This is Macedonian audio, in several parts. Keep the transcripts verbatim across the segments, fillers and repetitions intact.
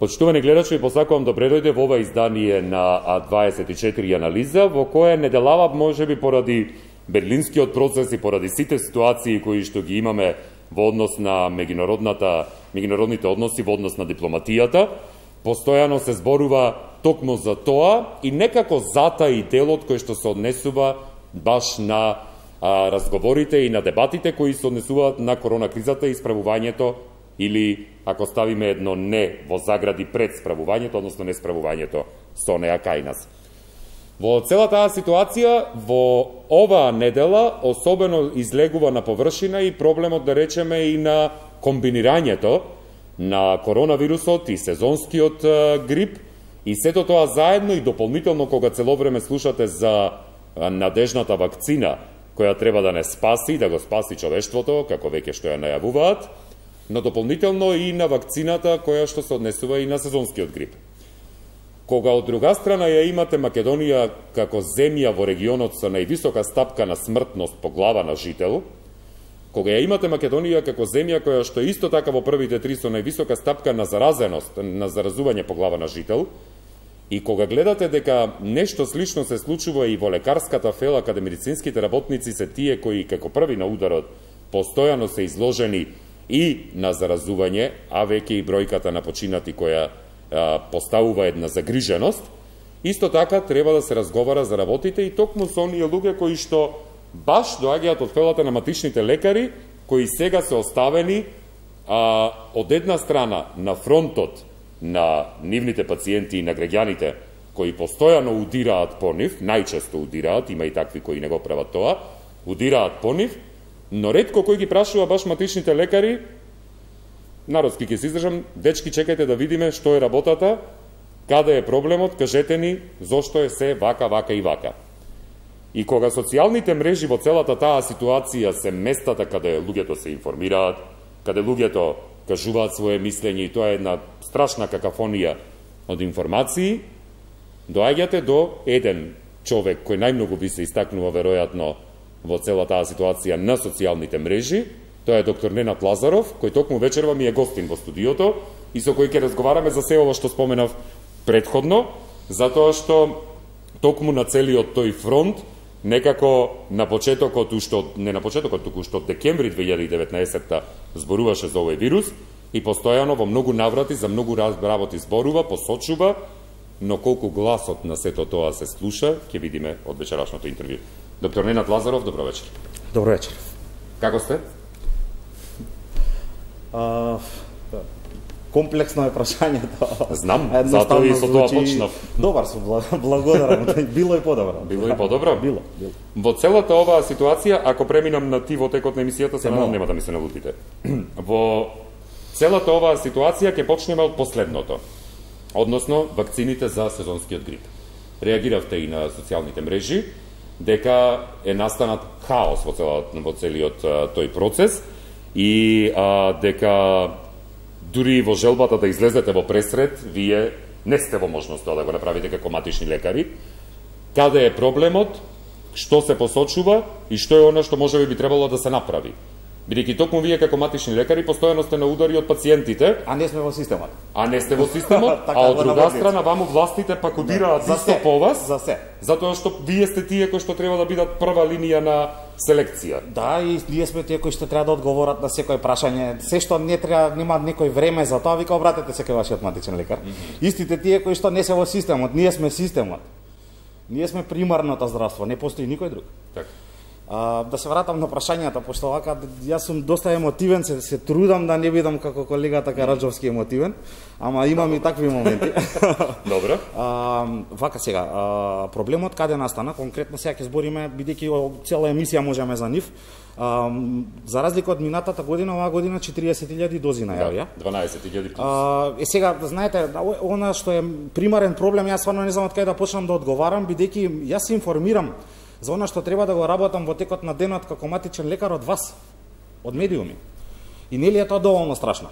Почитувани гледачи, посакувам да предојде во ова издание на А дваесет и четири анализа, во која неделава можеби поради берлинскиот процес и поради сите ситуации кои што ги имаме во однос на меѓународната меѓународните односи, во однос на дипломатијата, постојано се зборува токму за тоа и некако затаи делот кој што се однесува баш на а, разговорите и на дебатите кои се однесуваат на корона кризата и справувањето, или ако ставиме едно не во загради пред справувањето, односно не справувањето со неа кај нас. Во целата таа ситуација, во оваа недела, особено излегува на површина и проблемот, да речеме, и на комбинирањето на коронавирусот и сезонскиот грип, и сето тоа заедно и дополнително кога цело време слушате за надежната вакцина, која треба да не спаси, да го спаси човештвото, како веќе што ја најавуваат, но дополнително и на вакцината која што се однесува и на сезонскиот грип. Кога од друга страна ја имате Македонија како земја во регионот со највисока стапка на смртност по глава на жител, кога ја имате Македонија како земја која што исто така во првите три со највисока стапка на заразеност, на заразување по глава на жител, и кога гледате дека нешто слично се случува и во лекарската фела, каде медицинските работници се тие кои како први на ударот постојано се изложени и на заразување, а веќе и бројката на починати која а, поставува една загриженост, исто така треба да се разговара за работите и токму со оние луѓе кои што баш доаѓаат од фелата на матичните лекари, кои сега се оставени а, од една страна на фронтот на нивните пациенти и на граѓаните кои постојано удираат по нив, најчесто удираат, има и такви кои не го прават тоа, удираат по нив, но ретко кој ги прашува баш матичните лекари, народски ќе се издржам, дечки, чекајте да видиме што е работата, каде е проблемот, кажете ни зошто е се вака, вака и вака. И кога социјалните мрежи во целата таа ситуација се местата каде луѓето се информираат, каде луѓето кажуваат своje мислење, и тоа е една страшна какафонија од информации, доаѓате до еден човек кој најмногу ви се истакнува веројатно во цела таа ситуација на социјалните мрежи, тоа е доктор Ненад Лазаров, кој токму вечерва ми е гостин во студиото и со кој ќе разговараме за се ова што споменав претходно, затоа што токму на целиот тој фронт, некако на почетокот, уште не на почетокот, туку што од декември две илјади и деветнаесетта зборуваше за овој вирус и постојано во многу наврати за многу работи зборува, посочува, но колку гласот на сето тоа се слуша, ќе видиме од вечерашното интервју. Доктор Ненад Лазаров, добро вечер. Добро вечер. Како сте? А, комплексно е прашањето. Знам, затоа и со тоа почнав. Добар сум, благодарам. Било и подобро. Било и подобро? Било, било. Во целата оваа ситуација, ако преминам на ти во текот на емисијата, се надам нема да ми се налутите. Во целата оваа ситуација ќе почнеме од последното, односно вакцините за сезонскиот грип. Реагиравте и на социјалните мрежи дека е настанат хаос во, целиот, во целиот тој процес и а, дека дури во желбата да излезете во пресред, вие не сте во можност тоа да го направите како матични лекари. Каде е проблемот, што се посочува и што е она што можеби би требало да се направи? Бидејќи токму вие како матични лекари постојано сте на удари од пациентите, а не сме во системот. А не сте во системот, а од друга страна ваму властите пак удираат исто по вас. За се. Затоа што вие сте тие кои што треба да бидат прва линија на селекција. Да, и ние сме тие кои што треба да одговорат на секој прашање. Се што не треба, нема некој време за тоа, вика обратете се кај вашиот матичен лекар. Mm -hmm. Истите тие кои што не се во системот, ние сме системот. Ние сме примарното здравство, не постои никој друг. Така. А, да се вратам на прашањата, пошто вака јас сум доста емотивен, се, се трудам да не бидам како колегата Караджовски емотивен, ама имам и такви моменти. Добро. А, вака сега, а, проблемот каде настана, конкретно сега ќе збориме, бидејќи цела емисија можеме за нив. А, за разлика од минатата година, оваа година четириесет илјади дози најавија. Да, дванаесет илјади плюс. А, е сега, знаете, она што е примарен проблем, јас стварно не знам од кај да почнам да одговарам, бидејќи јас се информирам за она што треба да го работам во текот на денот како матичен лекар од вас, од медиуми. И нели е тоа доволно страшно?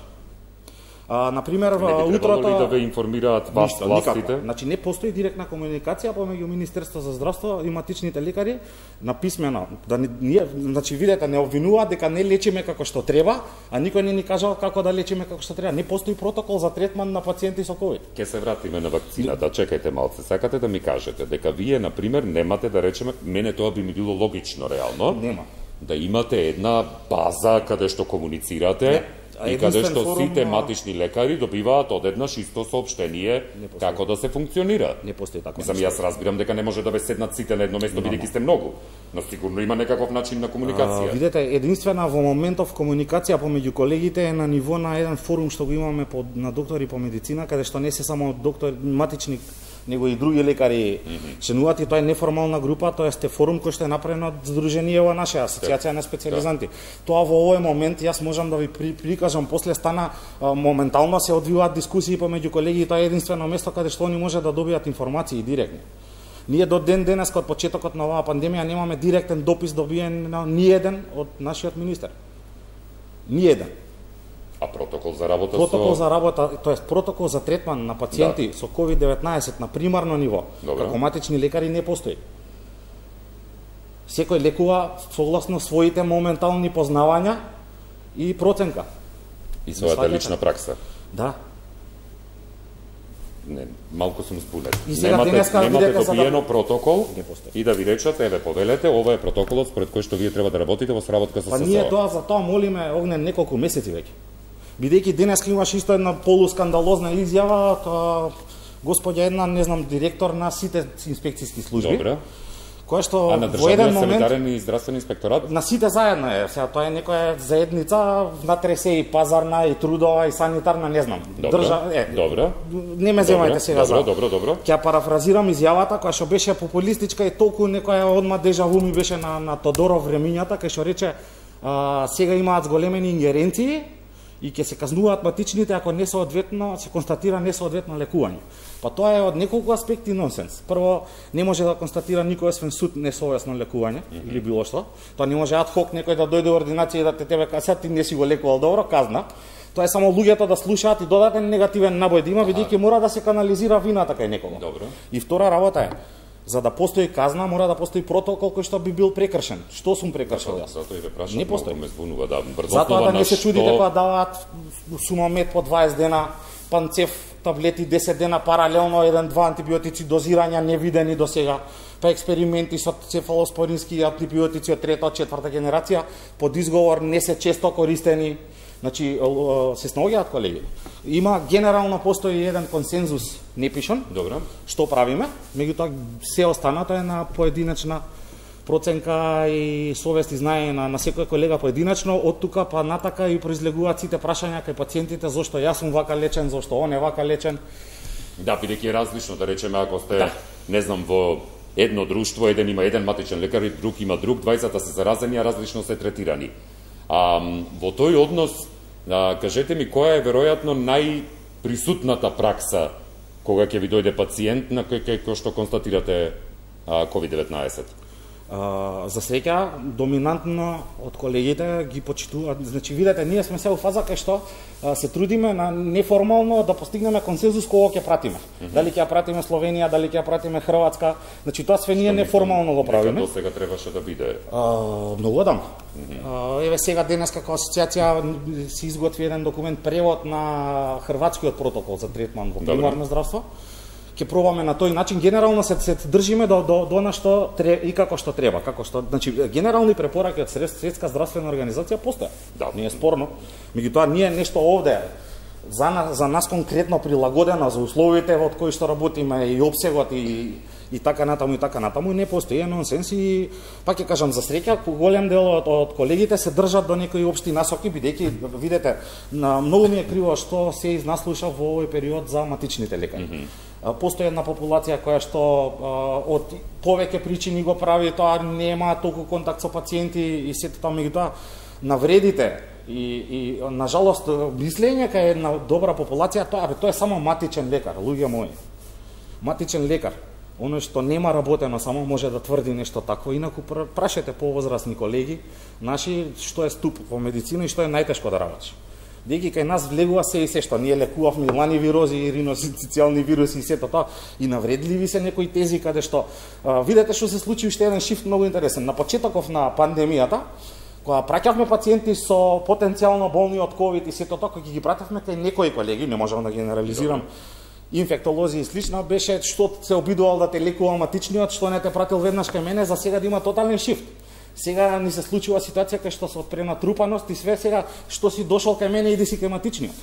А, на пример, Не би утрото требало ли да ве информираат вас Ништо, властите? никако. Значи не постои директна комуникација помеѓу Министерство за здравство и матичните лекари на писмено. Да не, ние, значи видете, не обвинуваат дека не лечиме како што треба, а никој не ни кажал како да лечиме како што треба. Не постои протокол за третман на пациенти со ковид. Ке се вратиме на вакцината. Чекајте малце. Сакате да ми кажете дека вие на пример немате, да речеме, мене тоа би ми било логично реално. Нема. Да имате една база каде што комуницирате. Не. И каде што форум, сите матични лекари добиваат одеднаш исто соопштение како да се функционира. Не постои така. Мислам, јас разбирам дека не може да ве седнат сите на едно место, бидејќи сте многу, но сигурно има некаков начин на комуникација. А, видете, единствена во моментов комуникација помеѓу колегите е на ниво на еден форум што го имаме по, на доктори по медицина, каде што не се само доктор матични, него и други лекари mm-hmm. членуваат, и тоа е неформална група, тоа е форум кој што е направен од Сдруженијево наша асоциација на специјализанти. Да. Тоа во овој момент јас можам да ви при, прикажам, после стана а, моментално се одвиваат дискусии помеѓу колеги, и тоа е единствено место каде што они може да добијат информации директно. Ние до ден денес, од почетокот на оваа пандемија, немаме директен допис добиен на ни еден од нашиот министер. Ни еден. А протокол за работа протокол со... за работа, тоест протокол за третман на пациенти да. со ковид деветнаесет на примарно ниво, Добре. како матични лекари не постои. Секој лекува согласно своите моментални познавања и проценка. И својата лична пракса. Да. Не, малку сум збунет. И сега немате, денеска немате видете за добиено да... протокол Не и да ви речат, еве, повелете, ова е протоколот според кој што вие треба да работите во сработка со Па ССО. ние тоа за тоа молиме Огнен неколку месеци веќе. Бидејќи денеска имаш исто една полускандалозна изјава, тоа господја една, не знам, директор на сите инспекцијски служби. Добре. Која што А на во еден државниот момент санитарен и здравствен инспекторат? на сите заедно е. Сега тоа е некоја заедница, внатре се и пазарна, и трудова, и санитарна, не знам. Добре. Држа... е, Добре. Не ме земајте сега добро, за. Добро, добро, добро. Ќе парафразирам изјавата која што беше популистичка и толку некоја одма дежаву ми беше на на Тодоров времињата, кај што рече а, сега имаат зголемени ингеренции и ќе се казнуваат матичните ако несоодветно се констатира несоодветно лекување. Па тоа е од неколку аспекти нонсенс. Прво, не може да констатира никој освен суд несовесно лекување mm -hmm. или било што. Тоа не може ад хок некој да дојде во ординација и да те тебе каже ти не си го лекувал добро, казна. Тоа е само луѓето да слушаат и додатен негативен набој да има, бидејќи мора да се канализира вината кај некого. Добро. И втора работа е, за да постои казна, мора да постои протокол кој што би бил прекршен. Што сум прекршил јас? Затоа и ве прашам, Не постои. ме збунува, да, брзо Затоа да не се што... чудите кога даваат сумамет по дваесет дена, панцев, таблети десет дена паралелно, еден-два антибиотици, дозирања невидени до сега, па експерименти со цефалоспорински антибиотици од трета, од четврта генерација, под изговор не се често користени. Значи, се снаоѓаат колеги. Има генерално постои еден консензус непишан. Добро. Што правиме? Меѓутоа се останато е на поединечна проценка и совест и знаење на, на секој колега поединечно, од тука па натака и произлегуваат сите прашања кај пациентите зошто јас сум вака лечен, зошто он е вака лечен. Да, бидејќи е различно, да речеме, ако сте, Да. не знам, во едно друштво, еден има еден матичен лекар и друг има друг, двајцата се заразени, а различно се третирани. А, во тој однос, а, кажете ми, која е веројатно најприсутната пракса кога ќе ви дојде пациент на кој, кој што констатирате ковид деветнаесет? Uh, за среќа, доминантно од колегите ги почитуваат. Значи, видете, ние сме се у фаза кај што uh, се трудиме на неформално да постигнеме консензус кого ќе пратиме. Mm -hmm. Дали ќе ја пратиме Словенија, дали ќе ја пратиме Хрватска. Значи, тоа све ние неформално го правиме. До сега требаше да биде. Uh, многу одам. Mm -hmm. uh, еве сега денес како асоциација се изготви еден документ превод на хрватскиот протокол за третман во примарно здравство. Ќе пробаме на тој начин, генерално се, се држиме до, до, до на што тре, и како што треба, како што, значи генерални препораки од Светска здравствена организација постојат. Да. Не е спорно. Меѓутоа ние нешто овде за нас, за нас конкретно прилагодено за условите од кои што работиме и обсегот и и така натаму и така натаму не постои, е нонсенс и пак ќе кажам за среќа голем дел од, од колегите се држат до некои општи насоки, бидејќи видете на многу ми е криво што се изнаслуша во овој период за матичните лекари. Mm -hmm. Постои една популација која што а, од повеќе причини го прави тоа, нема толку контакт со пациенти и сето тоа, меѓутоа навредите и, и на жалост мислење кај една добра популација, тоа, бе, тоа е само матичен лекар, луѓе мои. Матичен лекар, оно што нема работено само може да тврди нешто такво, инаку прашете повозрасни колеги наши што е ступ во медицина и што е најтешко да работиш. Деки кај нас влегува се и се што ние лекувавме и лани вирози и риносицијални вируси и сето тоа и навредливи се некои тези каде што а, видете што се случи уште еден шифт многу интересен. На почетоков на пандемијата, кога праќавме пациенти со потенцијално болни од ковид и сето тоа, кога ги пратевме кај некои колеги, не можам да генерализирам, инфектолози и слично, беше што се обидувал да те лекува матичниот, што не те пратил веднаш кај мене, за сега да има тотален шифт. Сега ни се случува ситуација кај што се од пренатрупаност и све сега што си дошол кај мене иди си кај матичниот.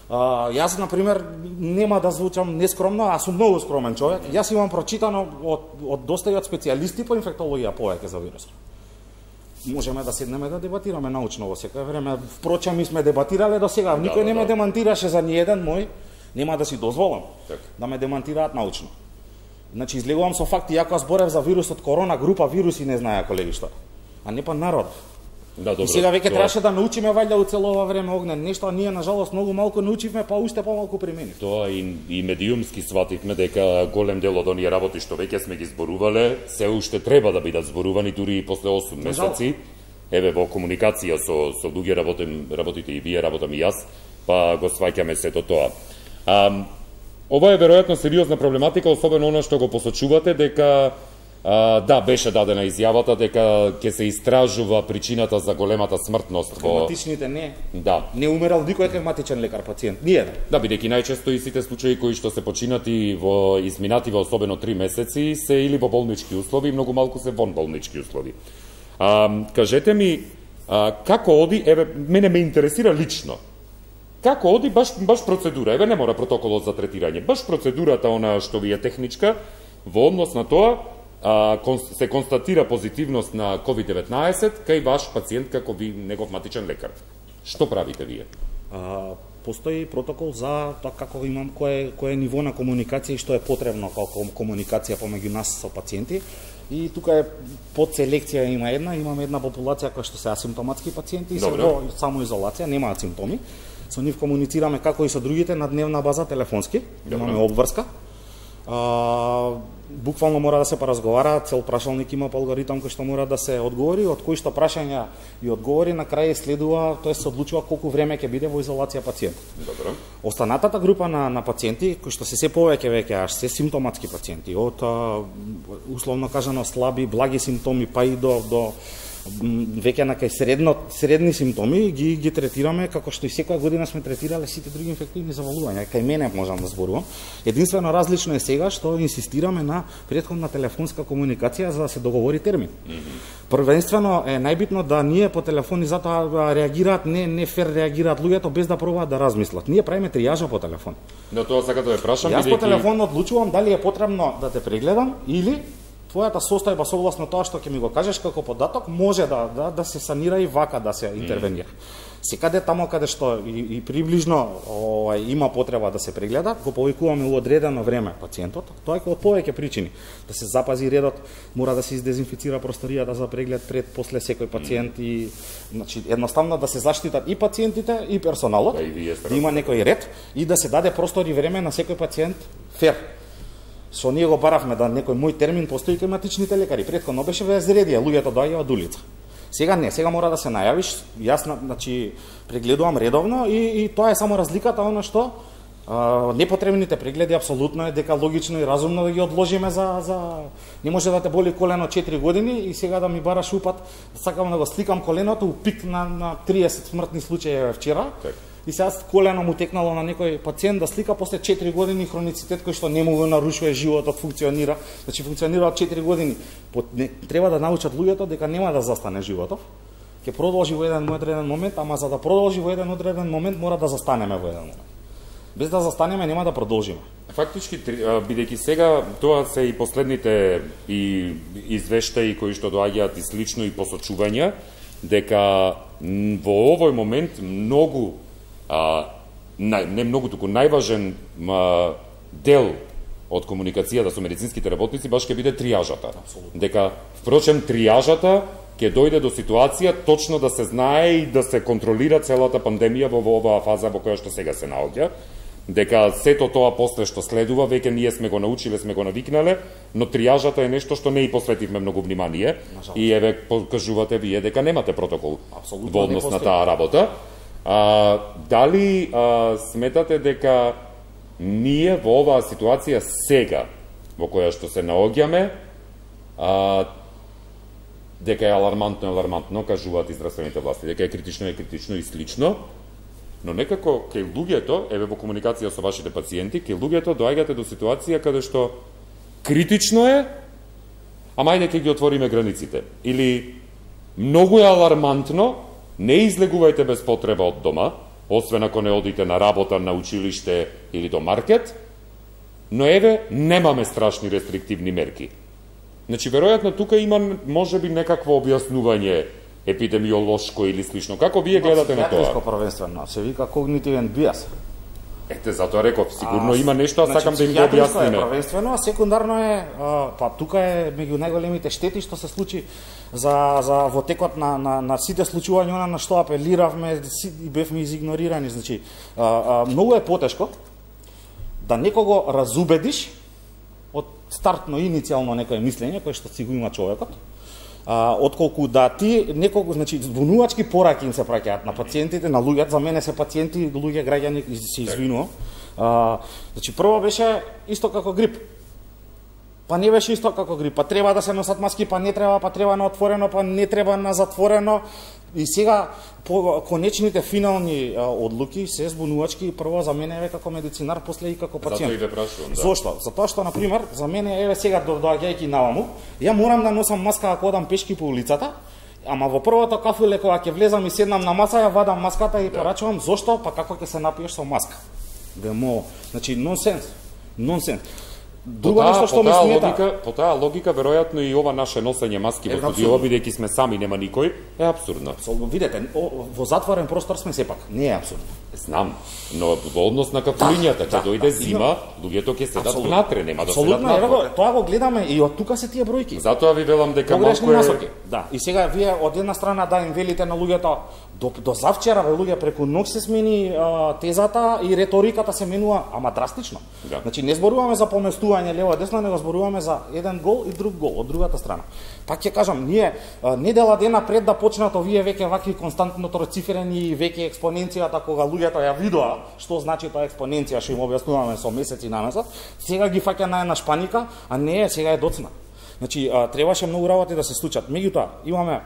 А, јас, например, нема да звучам нескромно, а сум многу скромен човек. Јас имам прочитано од, од доста и од специјалисти по инфектологија повеќе за вирусот. Можеме да седнеме да дебатираме научно во секој време. Впрочем, ми сме дебатирале до сега. Никој да, не ме да. демантираше за ни еден мој, нема да си дозволам так. да ме демантираат научно. Значи, излегувам со факти, јако зборев за вирусот корона, група вируси не знаеа колеги што. А не па народ. Да, добро. И сега веќе тоа... требаше да научиме вајде у цело ова време огнен нешто, а ние нажалост многу малку научивме, па уште помалку применивме. Тоа и, и медиумски свативме дека голем дел од оние работи што веќе сме ги зборувале, се уште треба да бидат зборувани дури и после осум месеци. Еве во комуникација со со луѓе работим, работите и вие, работам и јас, па го сваќаме сето тоа. А, ова е веројатно сериозна проблематика, особено она што го посочувате дека а, да, беше дадена изјавата дека ќе се истражува причината за големата смртност во матичните не. Да. Не умерал никој хематичен лекар пациент, ниеден. Да, бидејќи најчесто и сите случаи кои што се починати во изминати во особено три месеци се или во болнички услови, многу малку се вон болнички услови. А, кажете ми, а, како оди, еве, мене ме интересира лично, како оди баш, баш процедура, еве не мора протоколот за третирање, баш процедурата она што ви е техничка, во однос на тоа, а, се констатира позитивност на ковид деветнаесет кај ваш пациент како ви негов матичен лекар. Што правите вие? А, постои протокол за тоа како имам кое кое ниво на комуникација и што е потребно како комуникација помеѓу нас со пациенти. И тука е под селекција има една, имаме една популација која што се асимптоматски пациенти и се во самоизолација, немаат симптоми. Со нив комуницираме како и со другите на дневна база телефонски, Добре. имаме обврска. А, буквално мора да се поразговара, цел прашалник има по алгоритам кој што мора да се одговори, од кои што прашања и одговори на крај следува, тоа се одлучува колку време ќе биде во изолација пациентот. Добро. Останатата група на на пациенти кои што се се повеќе веќе аж се симптоматски пациенти, од а, условно кажано слаби, благи симптоми па и до до веќе на кај средно средни симптоми ги ги третираме како што и секоја година сме третирале сите други инфективни заболувања. Кај мене можам да зборувам. Единствено различно е сега што инсистираме на претходна телефонска комуникација за да се договори термин. Mm -hmm. Првенствено е најбитно да ние по телефони затоа реагираат не не фер реагираат луѓето без да пробаат да размислат. Ние правиме тријажа по телефон. Но тоа сакам да ве прашам. Јас по телефон одлучувам дали е потребно да те прегледам или твојата состојба согласно тоа што ќе ми го кажеш како податок може да да да се санира и вака да се интервенира. Mm. Секаде тамо каде што и, и приближно овај има потреба да се прегледа, го повикуваме у одредено време пациентот. Тоа е од повеќе причини. Да се запази редот, мора да се издезинфицира просторијата за преглед пред после секој пациент mm. и значи едноставно да се заштитат и пациентите и персоналот, да, и да има некој ред и да се даде простор и време на секој пациент фер. Со ние го баравме да некој мој термин постои кај матичните лекари. Претходно беше везредија, луѓето доаѓаат од улица. Сега не, сега мора да се најавиш. Јас значи прегледувам редовно и и тоа е само разликата она што а, непотребните прегледи апсолутно е дека логично и разумно да ги одложиме за за не може да те боли колено четири години и сега да ми бараш упат, сакам да го сликам коленото у пик на на триесет смртни случаи вчера. Так. И сега колено му текнало на некој пациент да слика после четири години хроницитет кој што не му го нарушува животот, функционира. Значи функционира од четири години. Треба да научат луѓето дека нема да застане животот. Ќе продолжи во еден одреден момент, ама за да продолжи во еден одреден момент мора да застанеме во еден момент. Без да застанеме нема да продолжиме. Фактички, бидејќи сега тоа се и последните и извештаи кои што доаѓаат и слично и посочувања дека во овој момент многу А, нај, не многу, туку најважен а, дел од комуникацијата со медицинските работници баш ќе биде тријажата. Абсолютно. Дека, впрочем, тријажата ќе дојде до ситуација точно да се знае и да се контролира целата пандемија во оваа фаза во која што сега се наоѓа. Дека сето тоа после што следува, веќе ние сме го научиле, сме го навикнале, но тријажата е нешто што не и посветивме многу внимание. И еве, покажувате вие дека немате протокол Абсолютно во однос на таа работа. А, дали а, сметате дека ние во оваа ситуација сега, во која што се наоѓаме, а, дека е алармантно, алармантно, кажуваат и здравствените власти, дека е критично, е критично и слично, но некако кај луѓето, еве во комуникација со вашите пациенти, кај луѓето доаѓате до ситуација каде што критично е, ама ајде ќе ги отвориме границите. Или многу е алармантно, не излегувајте без потреба од дома, освен ако не одите на работа, на училиште или до маркет, но еве немаме страшни рестриктивни мерки. Значи, веројатно тука има можеби некакво објаснување епидемиолошко или слично. Како вие гледате на тоа? Психијатриско првенствено, се вика когнитивен бијас. Ете, затоа реков, сигурно а, има нешто, а значи, сакам да им го објасниме. Е првенствено, а секундарно е, а, па тука е меѓу најголемите штети што се случи за, за во текот на, на, на сите случувања на што апелиравме и бевме изигнорирани. Значи, а, а, многу е потешко да некого разубедиш од стартно иницијално некое мислење кое што си го има човекот, а, отколку да ти некого, значи збунувачки пораки им се праќаат на пациентите, на луѓето, за мене се пациенти, луѓе, граѓани, се извинувам. А, значи прво беше исто како грип. Па не беше исто како грип, па треба да се носат маски, па не треба, па треба на отворено, па не треба на затворено. И сега по конечните финални а, одлуки се збунувачки, прво за мене еве како медицинар, после и како пациент. Затоа и ве прашувам, да. Зошто? Затоа што на пример за мене еве сега доаѓајќи наваму, ја морам да носам маска ако одам пешки по улицата, ама во првото кафуле кога ќе влезам и седнам на маса, ја вадам маската и да. порачувам. Зошто? Па како ќе се напиеш со маска? Демо, значи нонсенс. Нонсенс. Друго нешто што ми смета. Логика, по таа логика, веројатно и ова наше носење маски во студио, бидејќи сме сами, нема никој, е апсурдно. Видете, во затворен простор сме сепак, не е апсурдно. Знам, но во однос на кафулињата, ќе да, дојде да, зима, луѓето ќе седат внатре, нема да седат надвор. Тоа го гледаме и од тука се тие бројки. Затоа ви велам дека малку е... Да, и сега вие од една страна да им велите на луѓето, до, до завчера, ве луѓе, преку ног се смени а, тезата и реториката се менува, ама драстично. Да. Значи не зборуваме за поместување лево десно, него зборуваме за еден гол и друг гол од другата страна. Пак ќе кажам, ние а, недела дена пред да почнат овие веќе вакви константно троцифрени веќе експоненцијата кога луѓето ја видоа што значи тоа експоненција, што им објаснуваме со месеци намесот, сега ги фаќа на една шпаника, а не, сега е доцна. Значи а, требаше многу работи да се случат. Меѓутоа, имаме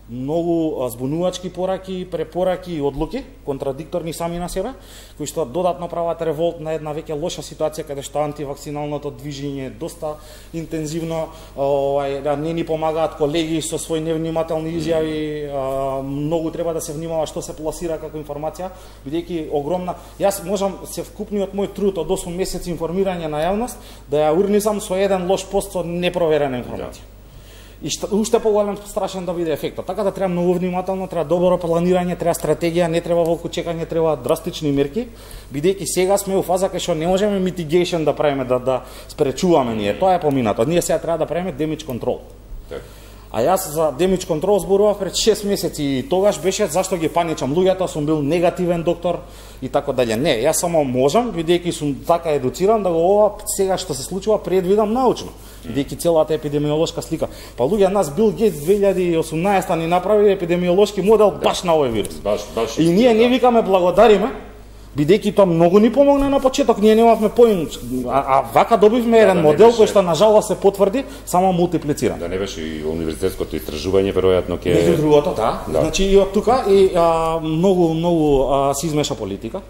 многу збунувачки пораки, препораки и одлуки, контрадикторни сами на себе, кои што додатно прават револт на една веќе лоша ситуација каде што антивакциналното движење е доста интензивно, ова, да не ни помагаат колеги со своји невнимателни изјави, а, многу треба да се внимава што се пласира како информација, бидејќи огромна, јас можам се вкупниот мој труд од осум месеци информирање на јавност да ја урнисам со еден лош пост со непроверена информација. И што, уште поголем страшен да биде ефектот. Така да треба многу внимателно, треба добро планирање, треба стратегија, не треба волку чекање, треба драстични мерки, бидејќи сега сме у фаза кај што не можеме mitigation да правиме, да, да спречуваме ние. Тоа е поминато. Ние сега треба да правиме damage control. Так. А јас за damage control зборував пред шест месеци и тогаш беше зашто ги паничам луѓето, сум бил негативен доктор и така дале. Не, јас само можам, бидејќи сум така едуциран, да го ова сега што се случува предвидам научно. Бидејќи целата епидемиолошка слика. Па луѓе, нас Бил Гейтс две илјади и осумнаесета ни направи епидемиолошки модел баш на овој вирус. Баш, баш. И ние не викаме благодариме, бидејќи тоа многу ни помогна на почеток, ние немавме поим, а, а вака добивме еден да, да модел беше... кој што на жалост се потврди, само мултиплициран. Да не беше и универзитетското истражување веројатно ќе Меѓу другото, да. да. Значи и од тука и а, многу многу а, се измеша политика.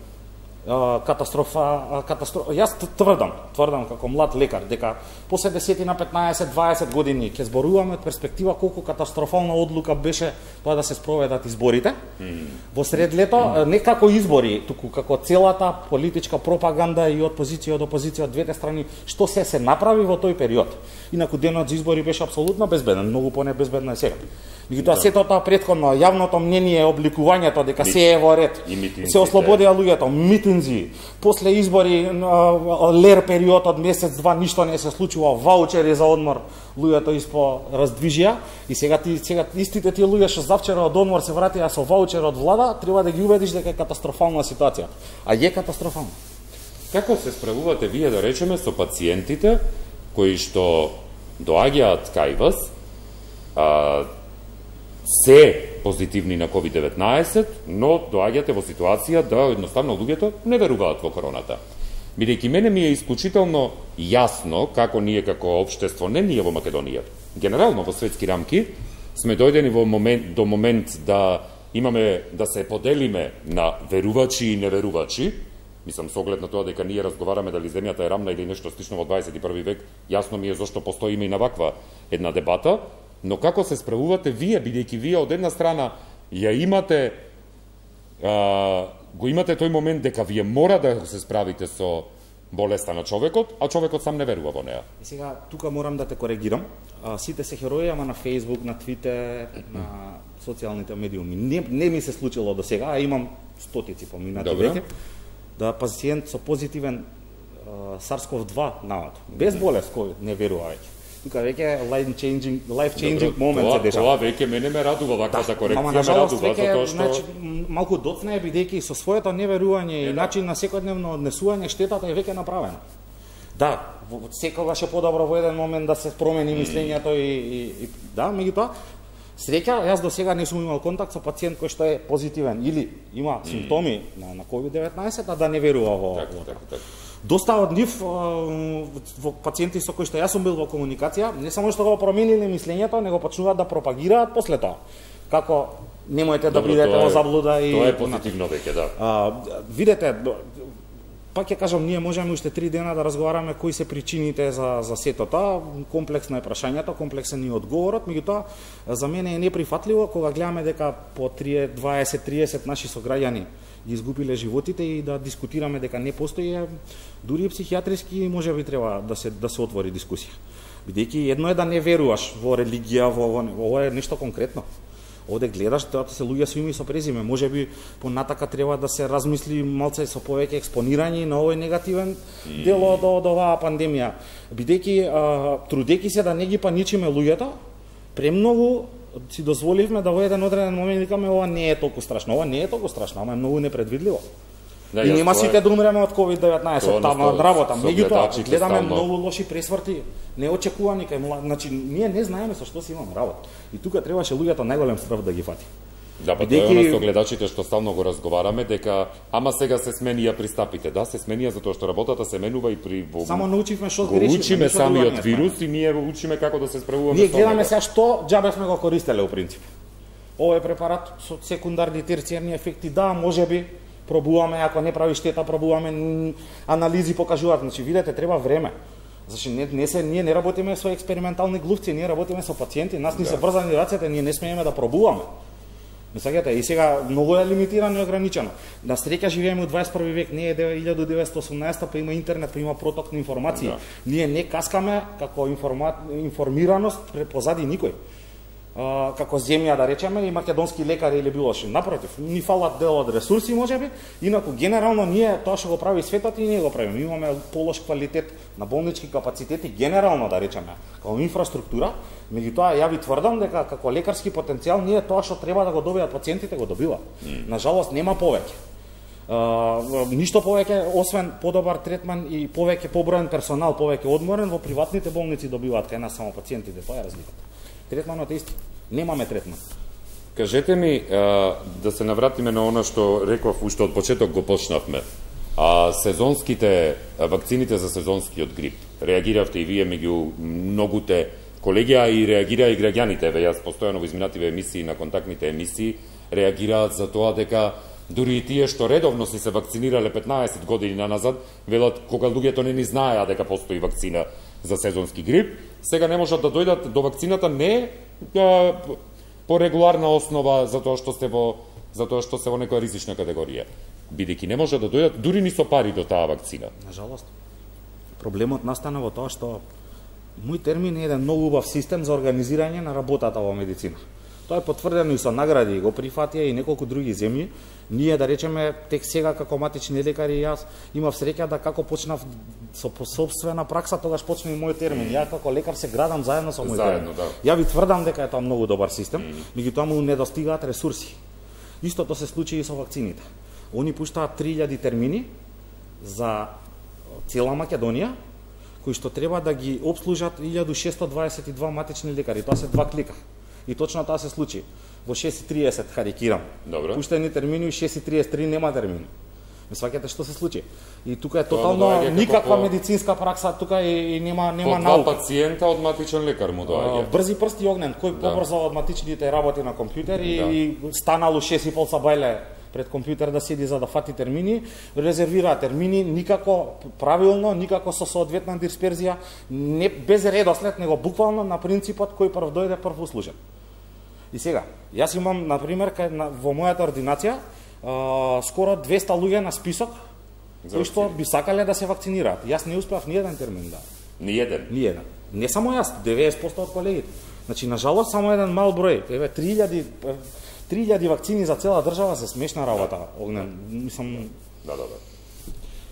Катастрофа, катастрофа. Јас тврдам, тврдам како млад лекар дека после десет на петнаесет дваесет години ќе зборуваме од перспектива колку катастрофална одлука беше тоа да се спроведат изборите. Mm. Во сред лето, mm. не како избори, туку како целата политичка пропаганда и од позиција од опозиција од двете страни, што се се направи во тој период. Инаку денот за избори беше апсолутно безбеден, многу понебезбедно е сега. Меѓутоа сето тоа претходно јавното мнение, обликувањето дека се е во ред, се ослободија луѓето, митинзи, после избори лер период од месец два ништо не се случува, ваучери за одмор, луѓето испо раздвижија и сега ти сега истите тие луѓе што завчера од одмор се вратија со ваучер од влада, треба да ги убедиш дека е катастрофална ситуација. А е катастрофална. Како се справувате вие, да речеме, со пациентите кои што доаѓаат кај вас, а, се позитивни на ковид деветнаесет, но доаѓате во ситуација да едноставно луѓето не веруваат во короната. Бидејќи мене ми е исклучително јасно како ние како општество, не ние во Македонија, генерално во светски рамки, сме дојдени во момент, до момент да имаме да се поделиме на верувачи и неверувачи. Мислам, со оглед на тоа дека ние разговараме дали земјата е рамна или нешто слично во дваесет и први век, јасно ми е зашто постоиме и на ваква една дебата, но како се справувате вие, бидејќи вие од една страна ја имате а, го имате тој момент дека вие мора да се справите со болеста на човекот, а човекот сам не верува во неа. И сега тука морам да те коригирам. А, сите се херои, ама на Facebook, на Twitter, на социјалните медиуми. Не, не ми се случило до сега, а имам стотици поминати веќе, да пациент со позитивен SARS-ков два нават, без болест кој не верува веќе. Тука веќе life changing life changing moment се дешава. Тоа веќе мене ме радува ваквата корекција, ама, ме радува затоа што значи малку доцна е бидејќи со своето неверување и начин на секојдневно однесување штетата е веќе направена. Да, секогаш е подобро во еден момент да се промени мислењето и, и, и да, меѓутоа среќа, јас до сега не сум имал контакт со пациент кој што е позитивен или има симптоми на, на ковид деветнаесет, а да не верува во така, така, така. Доста од нив во пациенти со кои што јас сум бил во комуникација, не само што го промениле мислењето, него почнуваат да пропагираат после тоа. Како немојте да бидете во заблуда и тоа е позитивно веќе, да. А, видете, пак ќе кажам, ние можеме уште три дена да разговараме кои се причините за за сето тоа, комплексно е прашањето, комплексен е одговорот, меѓутоа за мене е неприфатливо кога гледаме дека по дваесет триесет наши сограѓани ги изгубиле животите и да дискутираме дека не постои, дури психијатриски можеби треба да се да се отвори дискусија. Бидејќи едно е да не веруваш во религија, во ова е нешто конкретно. Овде гледаш, тоа се луѓе со име и со презиме. Можеби понатака треба да се размисли малце со повеќе експонирање на овој негативен дел од од оваа пандемија. Бидејќи трудејќи се да не ги паничиме луѓето, премногу си дозволивме да во еден одреден момент викаме ова не е толку страшно. Ова не е толку страшно, ама е многу непредвидливо. Да, и нема сите да умреме од ковид деветнаесет тама од работа. Меѓутоа гледаме многу лоши пресврти, неочекувани кај млад, значи ние не знаеме со што си имаме работа. И тука требаше луѓето најголем страв да ги фати. Да, па тоа е оно со гледачите што стално го разговараме дека ама сега се сменија пристапите. Да, се сменија затоа што работата се менува и при во... Само научивме што грешиме. Учиме самиот вирус и ние учиме како да се справуваме со тоа. Ние гледаме сега што џабе сме го користеле у принцип. Овој препарат со секундарни терцијарни ефекти, да, можеби пробуваме, ако не прави штета, пробуваме, анализи покажуваат, значи видете, треба време. Значи не, не се ние не работиме со експериментални глувци, ние работиме со пациенти, нас ни да. се брзани рацете, ние не смееме да пробуваме. Мислете, и сега многу е лимитирано и ограничено. На среќа живееме у дваесет и први век, не е илјада деветстотини и осумнаесета, па има интернет, па има проток на информации. Да. Ние не каскаме како информа... информираност позади никој. Uh, како земја, да речеме, и македонски лекари или било што. Напротив, ни фалат дел од ресурси, можеби, инаку генерално ние тоа што го прави светот и ние го правиме. Имаме полош квалитет на болнички капацитети, генерално, да речеме, како инфраструктура, меѓутоа ја ви тврдам дека како лекарски потенцијал ние тоа што треба да го добијат пациентите го добива. Mm. Нажалост нема повеќе. Uh, ништо повеќе освен подобар третман и повеќе поброен персонал, повеќе одморен во приватните болници добиваат кај нас само пациентите, тоа е разликата. Третманот е исти. Немаме третман. Кажете ми, а, да се навратиме на она што реков уште од почеток го почнавме. А сезонските а, вакцините за сезонскиот грип. Реагиравте и вие меѓу многуте колеги, а и реагира и граѓаните. Ве јас постојано во изминативе емисии на контактните емисии реагираат за тоа дека дури и тие што редовно си се вакцинирале петнаесет години наназад, велат кога луѓето не ни знаеа дека постои вакцина за сезонски грип, сега не можат да дојдат до вакцината не а, по регуларна основа затоа што сте во затоа што се во некоја ризична категорија, бидејќи не можат да дојдат дури ни со пари до таа вакцина. Нажалост. Проблемот настана во тоа што мој термин е еден многу убав систем за организирање на работата во медицина. Тоа е потврдено и со награди, го прифатија и неколку други земји. Ние, да речеме, тек сега како матични лекари, јас имав среќа да како почнав со собствена пракса, тогаш почна и мој термин. Ја како лекар се градам заедно со мој заедно, термин. Да. Ја ви тврдам дека е тоа многу добар систем, меѓутоа му недостигаат ресурси. Истото се случи и со вакцините. Они пуштаат три илјади термини за цела Македонија, кои што треба да ги обслужат илјада шесто дваесет и два матични лекари. Тоа се два клика. И точно тоа се случи. во шест и триесет карикирам. Добро. Пуштени термини, шест и триесет и три нема термини. Ме сваќате што се случи. И тука е Тоа тотално му доаѓа како никаква по- медицинска пракса, тука и, и нема По нема два наука. пациента од матичен лекар му А, доаѓа. Брзи прсти и огнен, кој побрзо од матичните работи на компјутер и, Да. и станало шест и пол са бајле пред компјутер да седи за да фати термини, резервира термини никако правилно, никако со соодветна дисперзија, не без редослед, него буквално на принципот кој прв дојде прв услужен. И сега, јас имам на пример кај на, во мојата ординација а, скоро двеста луѓе на список За кои што вакцини. би сакале да се вакцинираат. Јас не успеав ни еден термин да. Ни еден. Ни еден. Не само јас, деветдесет проценти од колегите. Значи, нажалост, само еден мал број. Еве, три илјади три илјади вакцини за цела држава се смешна работа. Огнен, мислам, Да, да, да.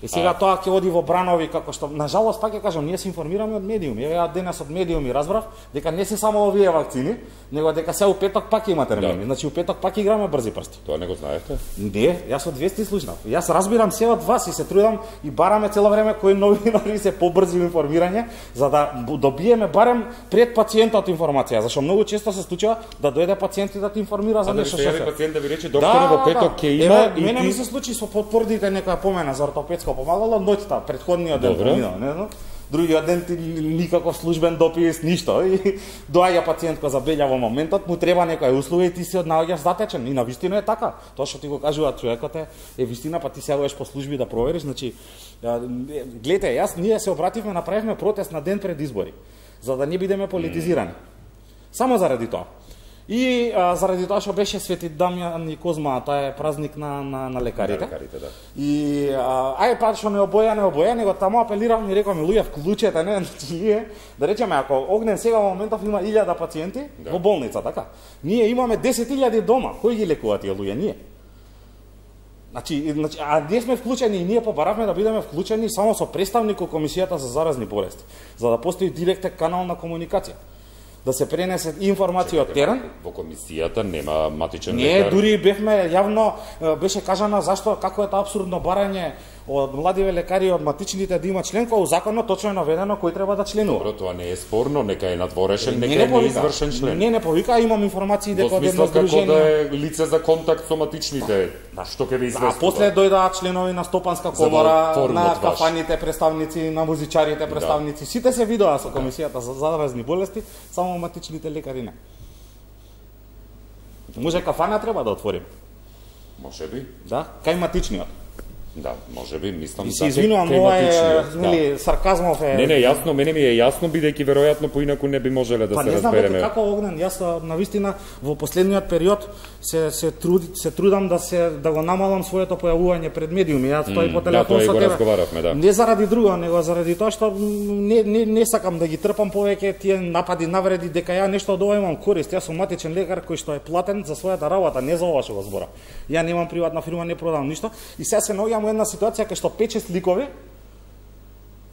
и сега тоа ќе оди во бранови како што нажалост пак ќе кажам, ние се информираме од медиуми. Еве, ја денес од медиуми разбрав дека не се само овие вакцини, него дека се у петок пак има термини. Да. Значи у петок пак играме брзи прсти. Тоа не го знаевте? Не, јас од вести слушнав. Јас разбирам се од вас и се трудам и бараме цело време кои новинари се побрзи во информирање, за да добиеме барем пред пациентот информација, зашто многу често се случува да дојде пациент и да ти информира за А да ви нешто се што јави се. пациент да ви рече докторе во петок ќе има Еве, и мене ти... ми се случи со потврдите некоја помена за ортопедско помагало ноќта, претходниот ден Добро. поминал, не знам. Другиот ден ти никаков службен допис, ништо. И доаѓа пациент кој забелја во моментот, му треба некоја услуга и ти се однаоѓаш затечен. И навистина е така. Тоа што ти го кажуваат човекот е, е вистина, па ти се одиш по служби да провериш. Значи, гледате, јас ние се обративме, направивме протест на ден пред избори, за да не бидеме политизирани. Само заради тоа. И а, заради тоа што беше Свети Дамјан и Козма, тоа е празник на на, на лекарите. Да, лекарите, да. И а, ај па што не обоја, не обоја, него таму апелирам и рекам луѓе вклучете, не, значи ние, да речеме ако Огнен сега во моментов има илјада пациенти Да. во болница, така. Ние имаме десет илјади дома, кои ги лекуваат тие луѓе? Ние. Значи, значи, а ние сме вклучени и ние побаравме да бидеме вклучени само со представник во Комисијата за заразни болести, за да постои директен канал на комуникација. Да се пренесе информација од терен. Во комисијата нема матичен Не, лекар. дури бевме јавно е, беше кажано зашто како е тоа абсурдно барање од младиве лекари од матичните да има член, кога у законот точно е наведено кој треба да членува. Добро, тоа не е спорно, нека е надворешен, Не, нека не е повика. неизвршен член. Не, не повика, имам информации Во дека од едно смисло како здружение. да е лице за контакт со матичните, што ќе ви А известува. после дојдоа членови на Стопанска За да комора, оформат на ваш. кафаните представници, на музичарите представници. Сите се видоа со Комисијата за заразни болести, само матичните лекари не. Може кафана треба да отворим. Може би, Да, кај матичниот. да, може би, мислам И се да, извинувам, кај ова е, матичниот, нели, сарказмов е. Не, не, јасно, мене ми е јасно, бидејќи веројатно поинаку не би можеле да Па се не знам веќе разбереме. како Огнен, јас на вистина во последниот период се се труди се трудам да се да го намалам своето појавување пред медиуми. Јас стои по да, телефон тоа и со го тебе. разговаравме, да. Не заради друго, него заради тоа што не не не сакам да ги трпам повеќе тие напади, навреди дека ја нешто од ова имам корист. Јас сум матичен лекар кој што е платен за својата работа, не за ова што го збора. Ја немам приватна фирма, не продавам ништо и сега се наоѓам во една ситуација кај што пет-шест ликови.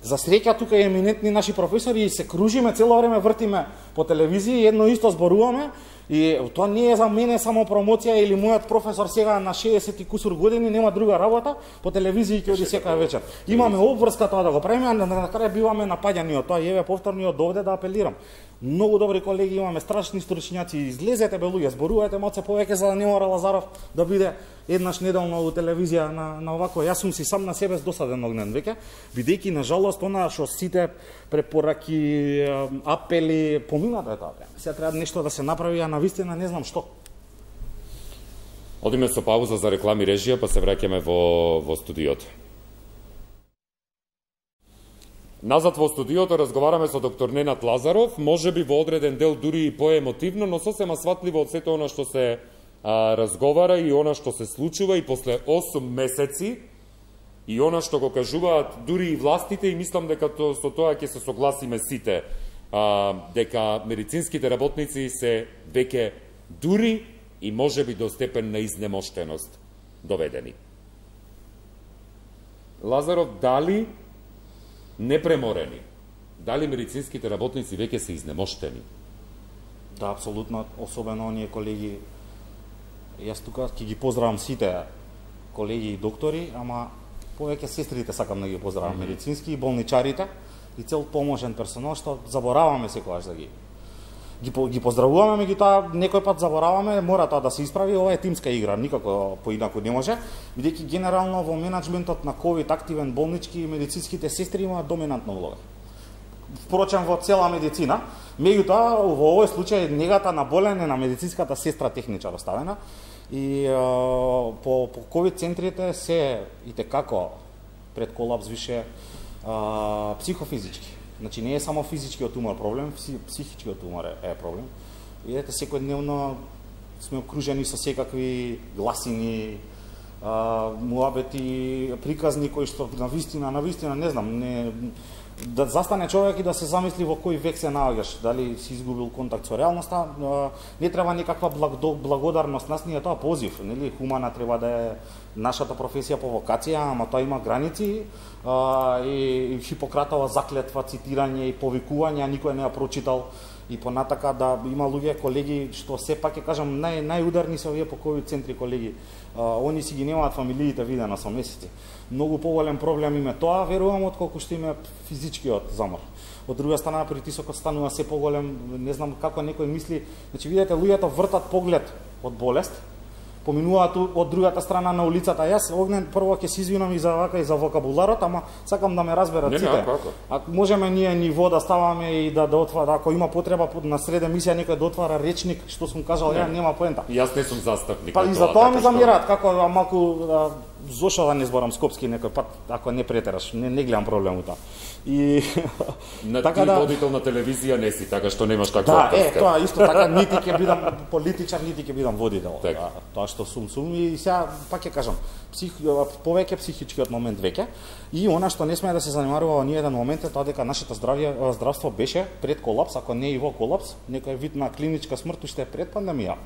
За среќа тука е еминентни наши професори и се кружиме цело време, вртиме по телевизија и едно исто зборуваме. И тоа не е за мене само промоција или мојот професор сега на шеесет и кусур години нема друга работа, по телевизија ќе оди секоја вечер. Имаме обврска тоа да го правиме, а на крај биваме напаѓани од тоа. И еве повторно и од овде да апелирам. Многу добри колеги имаме, страшни стручњаци, излезете бе луѓе, зборувајте малце повеќе за да не мора Лазаров да биде еднаш неделно во телевизија на на овако. Јас сум си сам на себе досаден Огнен веќе, бидејќи на жалост она што сите препораки, апели поминато е тоа. Сега треба нешто да се направи, а навистина не знам што. Одиме со пауза за реклами режија, па се враќаме во во студиото. Назад во студиото разговараме со доктор Ненад Лазаров, можеби во одреден дел дури и поемотивно, но сосема сватливо од сето она што се а, разговара и она што се случува и после осум месеци и она што го кажуваат дури и властите и мислам дека то, со тоа ќе се согласиме сите, а, дека медицинските работници се веќе дури и можеби до степен на изнемоштеност доведени. Лазаров, дали непреморени, дали медицинските работници веќе се изнемоштени? Да, апсолутно, особено оние колеги. Јас тука ќе ги поздравам сите колеги и доктори, ама повеќе сестрите сакам да ги поздравам, mm -hmm. медицински и болничарите и цел поможен персонал што забораваме секогаш да ги ги, ги поздравуваме, меѓутоа некој пат забораваме, мора тоа да се исправи, ова е тимска игра, никако поинаку не може, бидејќи генерално во менаџментот на ковид активен болнички медицинските сестри имаат доминантна улога. Впрочем во цела медицина, меѓутоа во овој случај негата на болен е на медицинската сестра техничар оставена и е, по по ковид центрите се и како пред колапс више е, психофизички. Значи не е само физичкиот умор проблем, психичкиот умор е, е проблем. Видете, секојдневно сме окружени со секакви гласини, а, муабети, приказни кои што на вистина, на вистина не знам, не да застане човек и да се замисли во кој век се наоѓаш, дали си изгубил контакт со реалноста, не треба никаква благодарност, нас ни е тоа позив, нели, хумана треба да е нашата професија по вокација, ама тоа има граници, а, и, и Хипократова заклетва, цитирање и повикување, никој не ја прочитал, и понатака да има луѓе, колеги, што сепак ќе кажам, нај, најударни се овие по ковид центри колеги, а, они си ги немаат фамилиите видено со месеци. Многу поголем проблем им е тоа, верувам, отколку што им е физичкиот замор. Од друга страна, притисокот станува се поголем, не знам како некој мисли, значи видите, луѓето вртат поглед од болест, поминуваат од другата страна на улицата. Јас Огнен прво ќе се извинам и за вака и за вокабуларот, ама сакам да ме разберат сите. Ако можеме ние ниво да ставаме и да да отвара, ако има потреба на среда емисија некој да отвара речник, што сум кажал, ја нема поента. Јас не сум застапник. Па и за тоа ме замираат, како малку зошо да не зборам скопски некој пат, ако не претераш, не, не гледам проблем у тоа. И на така ти да водител на телевизија не си, така што немаш каква да, е, тоа исто така, нити ќе бидам политичар, нити ќе бидам водител. Да, тоа што сум сум и сега пак ќе кажам, псих, повеќе психичкиот момент веќе и она што не сме да се занимаваме во ни еден момент е тоа дека нашето здравје здравство беше пред колапс, ако не и во колапс, некој вид на клиничка смрт уште пред пандемија.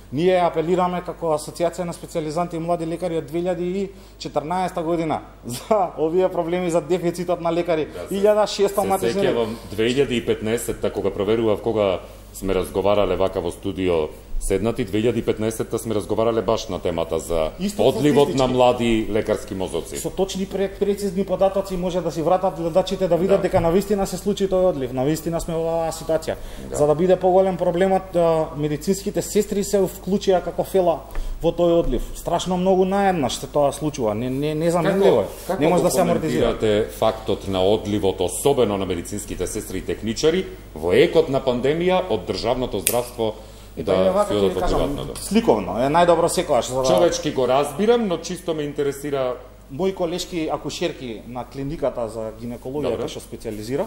Ние апелираме како Асоциација на специјализанти и млади лекари од две илјади и четрнаесета година за овие проблеми за дефицитот на лекари. илјада и шесто матични. Се сеќавам две илјади и петнаесета кога проверував кога сме разговарале вака во студио седнати, две илјади и петнаесета сме разговарале баш на темата за одливот на млади лекарски мозоци. Со точни прецизни податоци може да си вратат гледачите да видат да. дека навистина се случи тој одлив, навистина сме во оваа ситуација. Да. За да биде поголем проблемот, медицинските сестри се вклучија како фела во тој одлив. Страшно многу наеднаш се тоа случува, не не не заменливо е. Не може да се амортизира. Како фактот на одливот, особено на медицинските сестри и техничари во екот на пандемија од државното здравство? И да, тоа е вака, кажам, сликовно, е најдобро секогаш. За да... Човечки го разбирам, но чисто ме интересира. Мои колешки акушерки на клиниката за гинекологија кој што специализирав,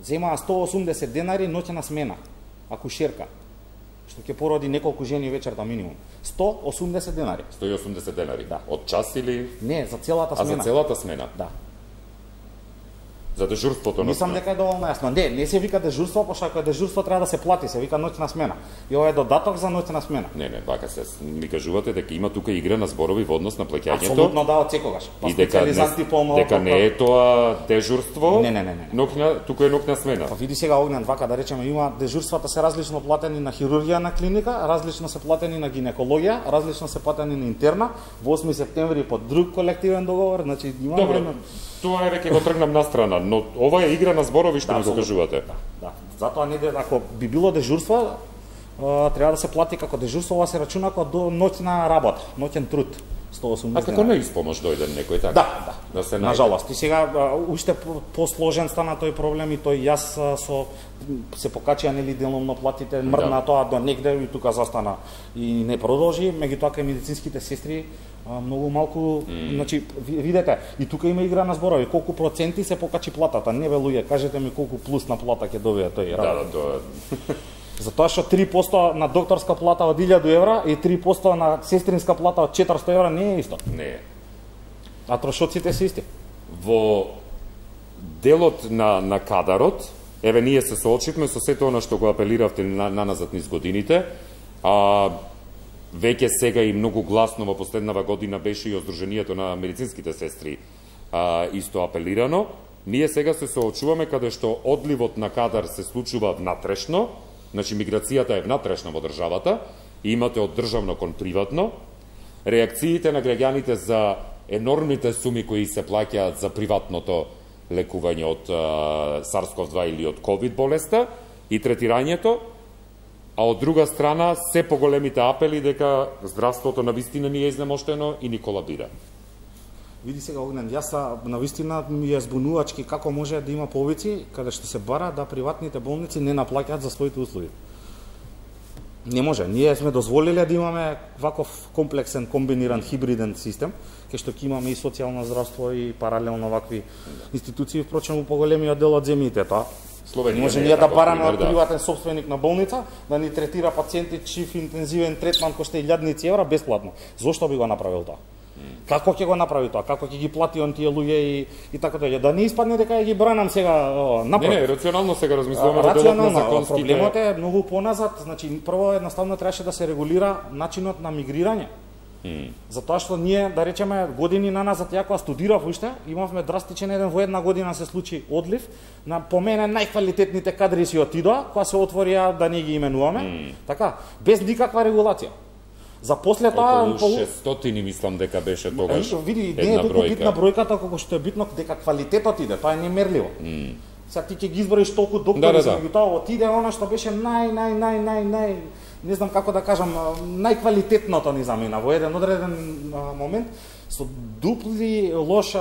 земаа сто и осумдесет денари ноќна смена, акушерка, што ќе породи неколку жени вечерта минимум. сто и осумдесет денари. сто и осумдесет денари? Да. Од час или? Не, за целата смена. А за целата смена? Да. За дежурството? Мислам дека е доволно јасно. Не, не се вика дежурство, пошто ако е дежурство треба да се плати, се вика ноќна смена. И ова е додаток за ноќна смена. Не, не, вака се ми кажувате дека има тука игра на зборови во однос на плаќањето. Апсолутно да, од секогаш. И дека не, дека не е тоа дежурство. Не, не, не, не. Ноќна, тука е ноќна смена. Па види сега Огнен, вака да речеме, има дежурствата се различно платени на хирургија на клиника, различно се платени на гинекологија, различно се платени на интерна. Во осми септември по друг колективен договор, значи имаме. Добро. Тоа е веќе го тргнам на страна, но ова е игра на зборови што да, ми го кажувате. Да, да. Затоа не ако би било дежурство, треба да се плати како дежурство, ова се рачуна како до ноќна работа, ноќен труд. сто и осумдесет. А како на испомош дојде некој така? Да, да. Да се на жалост. И сега уште посложен стана тој проблем и тој јас со се покачија нели деломно платите, мрдна да. Тоа до негде и тука застана и не продолжи, меѓутоа кај медицинските сестри многу малку, mm. значи видете, и тука има игра на зборови, колку проценти се покачи платата, не бе луѓе, кажете ми колку плюс на плата ќе добие тој работа. Да, да, тоа. Затоа што три проценти на докторска плата од илјаду евра и три проценти на сестринска плата од четиристо евра не е исто. Не е. А трошоците се исти. Во делот на на кадарот, еве ние се соочивме со сето она што го апелиравте на, на назад низ годините, а веќе сега и многу гласно во последнава година беше и Сдруженијето на медицинските сестри а, исто апелирано. Ние сега се соочуваме каде што одливот на кадар се случува внатрешно, значи миграцијата е внатрешна во државата, и имате од државно кон приватно. Реакциите на граѓаните за енормните суми кои се плаќаат за приватното лекување од SARS-ков два или од ковид болеста, и третирањето, а од друга страна се поголемите апели дека здравството на вистина ни е изнемоштено и ни колабира. Види сега, Огнен, јас на вистина ми е збунувачки како може да има повици каде што се бара да приватните болници не наплаќаат за своите услуги. Не може. Ние сме дозволиле да имаме ваков комплексен, комбиниран, хибриден систем, кај што ќе имаме и социјално здравство и паралелно вакви институции, впрочем, у поголемиот дел од земјите тоа. Словенија може ние да бараме од приватен собственик на болница да ни третира пациенти чиф интензивен третман кошта илјадници евра бесплатно. Зошто би го направил тоа? Како ќе го направи тоа? Како ќе ги плати он тие луѓе и и така тоа? Да не испадне дека ја ги бранам сега напротив. Не, не, рационално сега размислуваме за делот на законските. Проблемот е многу поназад, значи прво едноставно требаше да се регулира начинот на мигрирање. Mm. Затоа што ние, да речеме, години наназад, ја кога студирав уште, имавме драстичен еден во една година се случи одлив на по мене најквалитетните кадри си отидоа, кога се отворија да не ги именуваме, mm. така, без никаква регулација. За после тоа околу шестстотини мислам дека беше тогаш. Види, не е толку битна бројката колку што е битно дека квалитетот иде, тоа е немерливо. Mm. Сега ти ќе ги изброиш толку доктори, да, да, да. Меѓутоа отиде она што беше нај нај нај нај нај не знам како да кажам, најквалитетното ни замина во еден одреден момент со дупли лош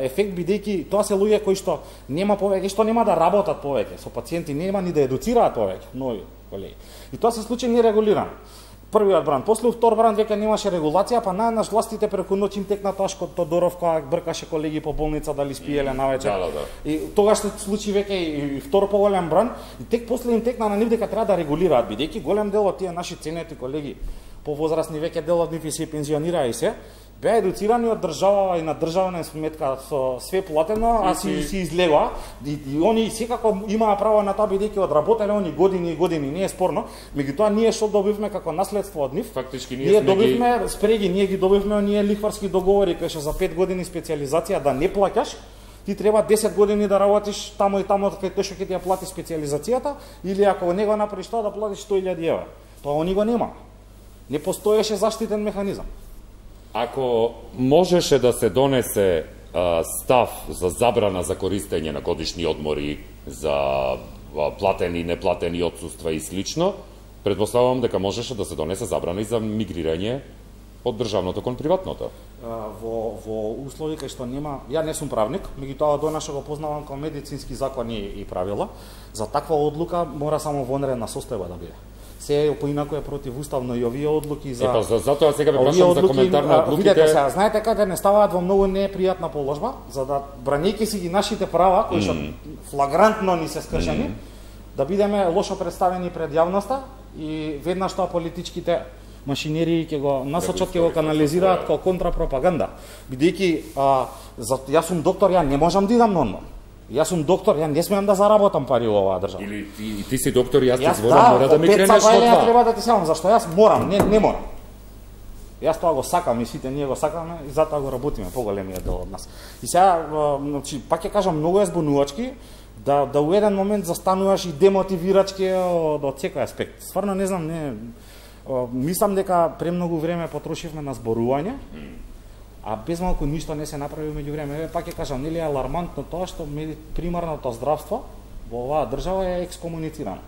ефект, бидејќи тоа се луѓе кои што нема повеќе, што нема да работат повеќе со пациенти, нема ни да едуцираат повеќе, нови колеги. И тоа се случи нерегулирано. Првиот бранд, после втор бранд веќе немаше регулација, па најнаш властите преку ноќ им текна тоа што Тодоров кога бркаше колеги по болница дали спиеле навечер. Да, да, да. И тогаш се случи веќе и втор поголем бранд, и тек после им текна на нив дека треба да регулираат, бидејќи голем дел од тие наши ценети колеги повозрасни веќе дел од нив и се пензионираа и се, беа едуцирани од држава и на државна сметка со све платено, а си си излегоа и, и они секако имаа право на тоа бидејќи одработеле они години и години, не е спорно, меѓутоа ние што добивме како наследство од нив? Фактички ние, ние добивме ги... спреги, ние ги добивме оние лихварски договори кај што за пет години специјализација да не плаќаш, ти треба десет години да работиш тамо и тамо кај тој што ќе ти ја плати специјализацијата, или ако не го направиш тоа да платиш сто илјади евра. Тоа они го нема. Не постоеше заштитен механизам. Ако можеше да се донесе а, став за забрана за користење на годишни одмори, за а, платени и неплатени отсуства и слично, предпоставувам дека можеше да се донесе забрана и за мигрирање од државното кон приватното. А, во, во услови кај што нема, ја не сум правник, меѓутоа до нашо го познавам како медицински закони и правила, за таква одлука мора само вонредна состојба да биде. Се поинаку е противуставно и овие одлуки за... Епа, за, затоа сега ве прашам за коментар на одлуките... Видете сега, знаете каде не ставаат во многу непријатна положба, за да, бранејќи си ги нашите права, кои што mm. флагрантно ни се скршени, mm. да бидеме лошо представени пред јавноста и веднаш тоа политичките машинерии ќе го насочат, ќе го канализираат како контрапропаганда. Бидејќи, јас сум доктор, ја не можам да идам нормално. Јас сум доктор, ја не смеам да заработам пари во оваа држава. Или ти, ти си доктор, јас ти зборам, мора да ми кренеш од това. Јас треба да ти сеам, зашто јас морам, не, не морам. Јас тоа го сакам и сите ние го сакаме и затоа го работиме поголемиот дел од нас. И сега, значи, пак ќе кажам, многу е збунувачки да да у еден момент застануваш и демотивирачки од, од секој аспект. Стварно не знам, не мислам дека премногу време потрошивме на зборување. А без малку ништо не се направи меѓу време. Пак ќе кажам, нели е алармантно тоа што примарното здравство во оваа држава е екскомуницирано.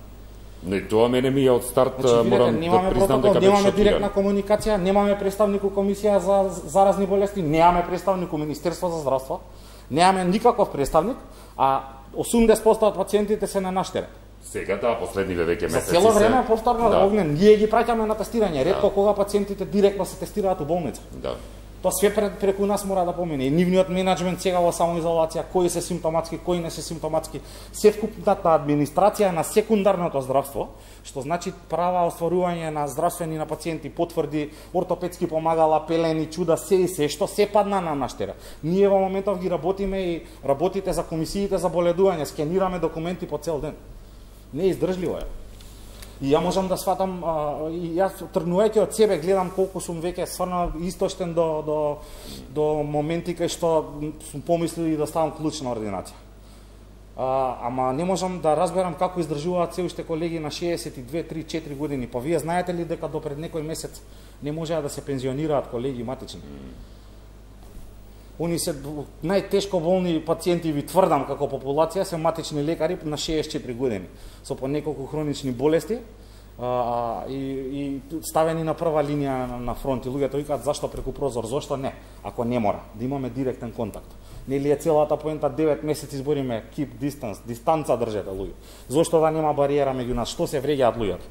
Не, тоа мене ми е од старт, значи, морам да признам дека немаме директна комуникација, немаме представник у комисија за заразни болести, немаме представник у Министерство за здравство, немаме никаков представник, а осумдесет проценти од пациентите се на наш терен. Сега да, последниве веќе месеци. За цело време повторно да. Огнен, ние ги праќаме на тестирање, ретко да. Кога пациентите директно се тестираат у болница. Да. Тоа све пред, преку нас мора да помине. И нивниот менеджмент сега во самоизолација, кои се симптоматски, кои не се симптоматски, се вкупната администрација на секундарното здравство, што значи права остварување на здравствени на пациенти, потврди, ортопедски помагала, пелени, чуда, се и се, што се падна на наш терен. Ние во моментов ги работиме и работите за комисиите за боледување, скенираме документи по цел ден. Не е издржливо е. И ја можам да сватам, а, и јас тргнувајќи од себе гледам колку сум веќе стварно истоштен до, до, до моменти кај што сум помислил и да ставам клучна ординација. А, ама не можам да разберам како издржуваат се уште колеги на шеесет и две, три, четири години. Па вие знаете ли дека до пред некој месец не можеа да се пензионираат колеги матични? Они се најтешко болни пациенти, ви тврдам, како популација, се матични лекари на шеесет и четири години, со по неколку хронични болести, а, и, и ставени на прва линија на, на фронт. И луѓето викаат, зашто преку прозор, зашто не, ако не мора, да имаме директен контакт. Нели е целата поента девет месеци збориме keep distance, дистанца држете луѓе. Зошто да нема бариера меѓу нас, што се вреѓаат луѓето?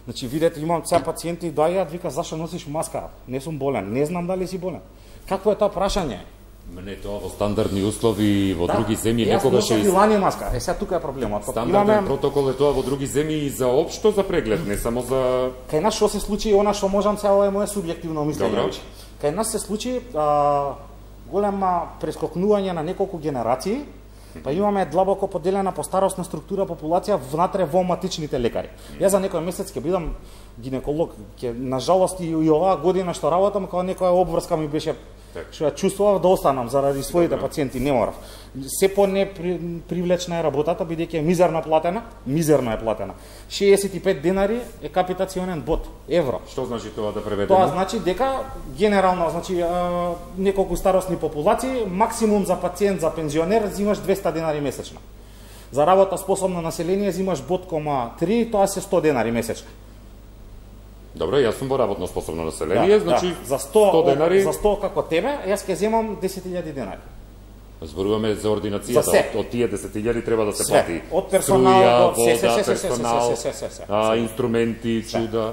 Значи, видете, имам сега пациенти доаѓаат, вика, зашто носиш маска? Не сум болен, не знам дали си болен. Какво е тоа прашање? Не, тоа во стандардни услови во да, други земји некогаш е лани маска. Е, сега тука е проблемот. Стандарден имаме... протокол е тоа во други земји и за општо за преглед, не само за... Кај нас што се случи, она што можам сега, ова е моје субјективно мислење. Кај нас се случи а, голема прескокнување на неколку генерации, па имаме длабоко поделена по старосна структура популација внатре во матичните лекари. Јас за некој месец ќе бидам гинеколог, ќе нажалост и, и оваа година што работам, кога некоја обврска ми беше што ја чувствував да останам заради своите Добре. Пациенти, не морав. Се по не привлечна е работата, бидејќи е мизерно платена, мизерно е платена. шеесет и пет денари е капитационен бод, евро. Што значи тоа да преведеме? Тоа значи дека генерално, значи а, неколку старосни популации, максимум за пациент, за пензионер, зимаш двеста денари месечно. За работа способно население зимаш бод кома три, тоа се сто денари месечно. Добре, јас сум во работно способно население, да, значи да. За сто, сто денари... За сто како тебе, јас ќе земам десет илјади денари. Зборуваме за ординацијата, од, од тие десет илјади треба да се се. плати. Од персонал, струја, се, се, вода, се, се, персонал, се, се, се, се, се, а, се. инструменти, се. Чуда.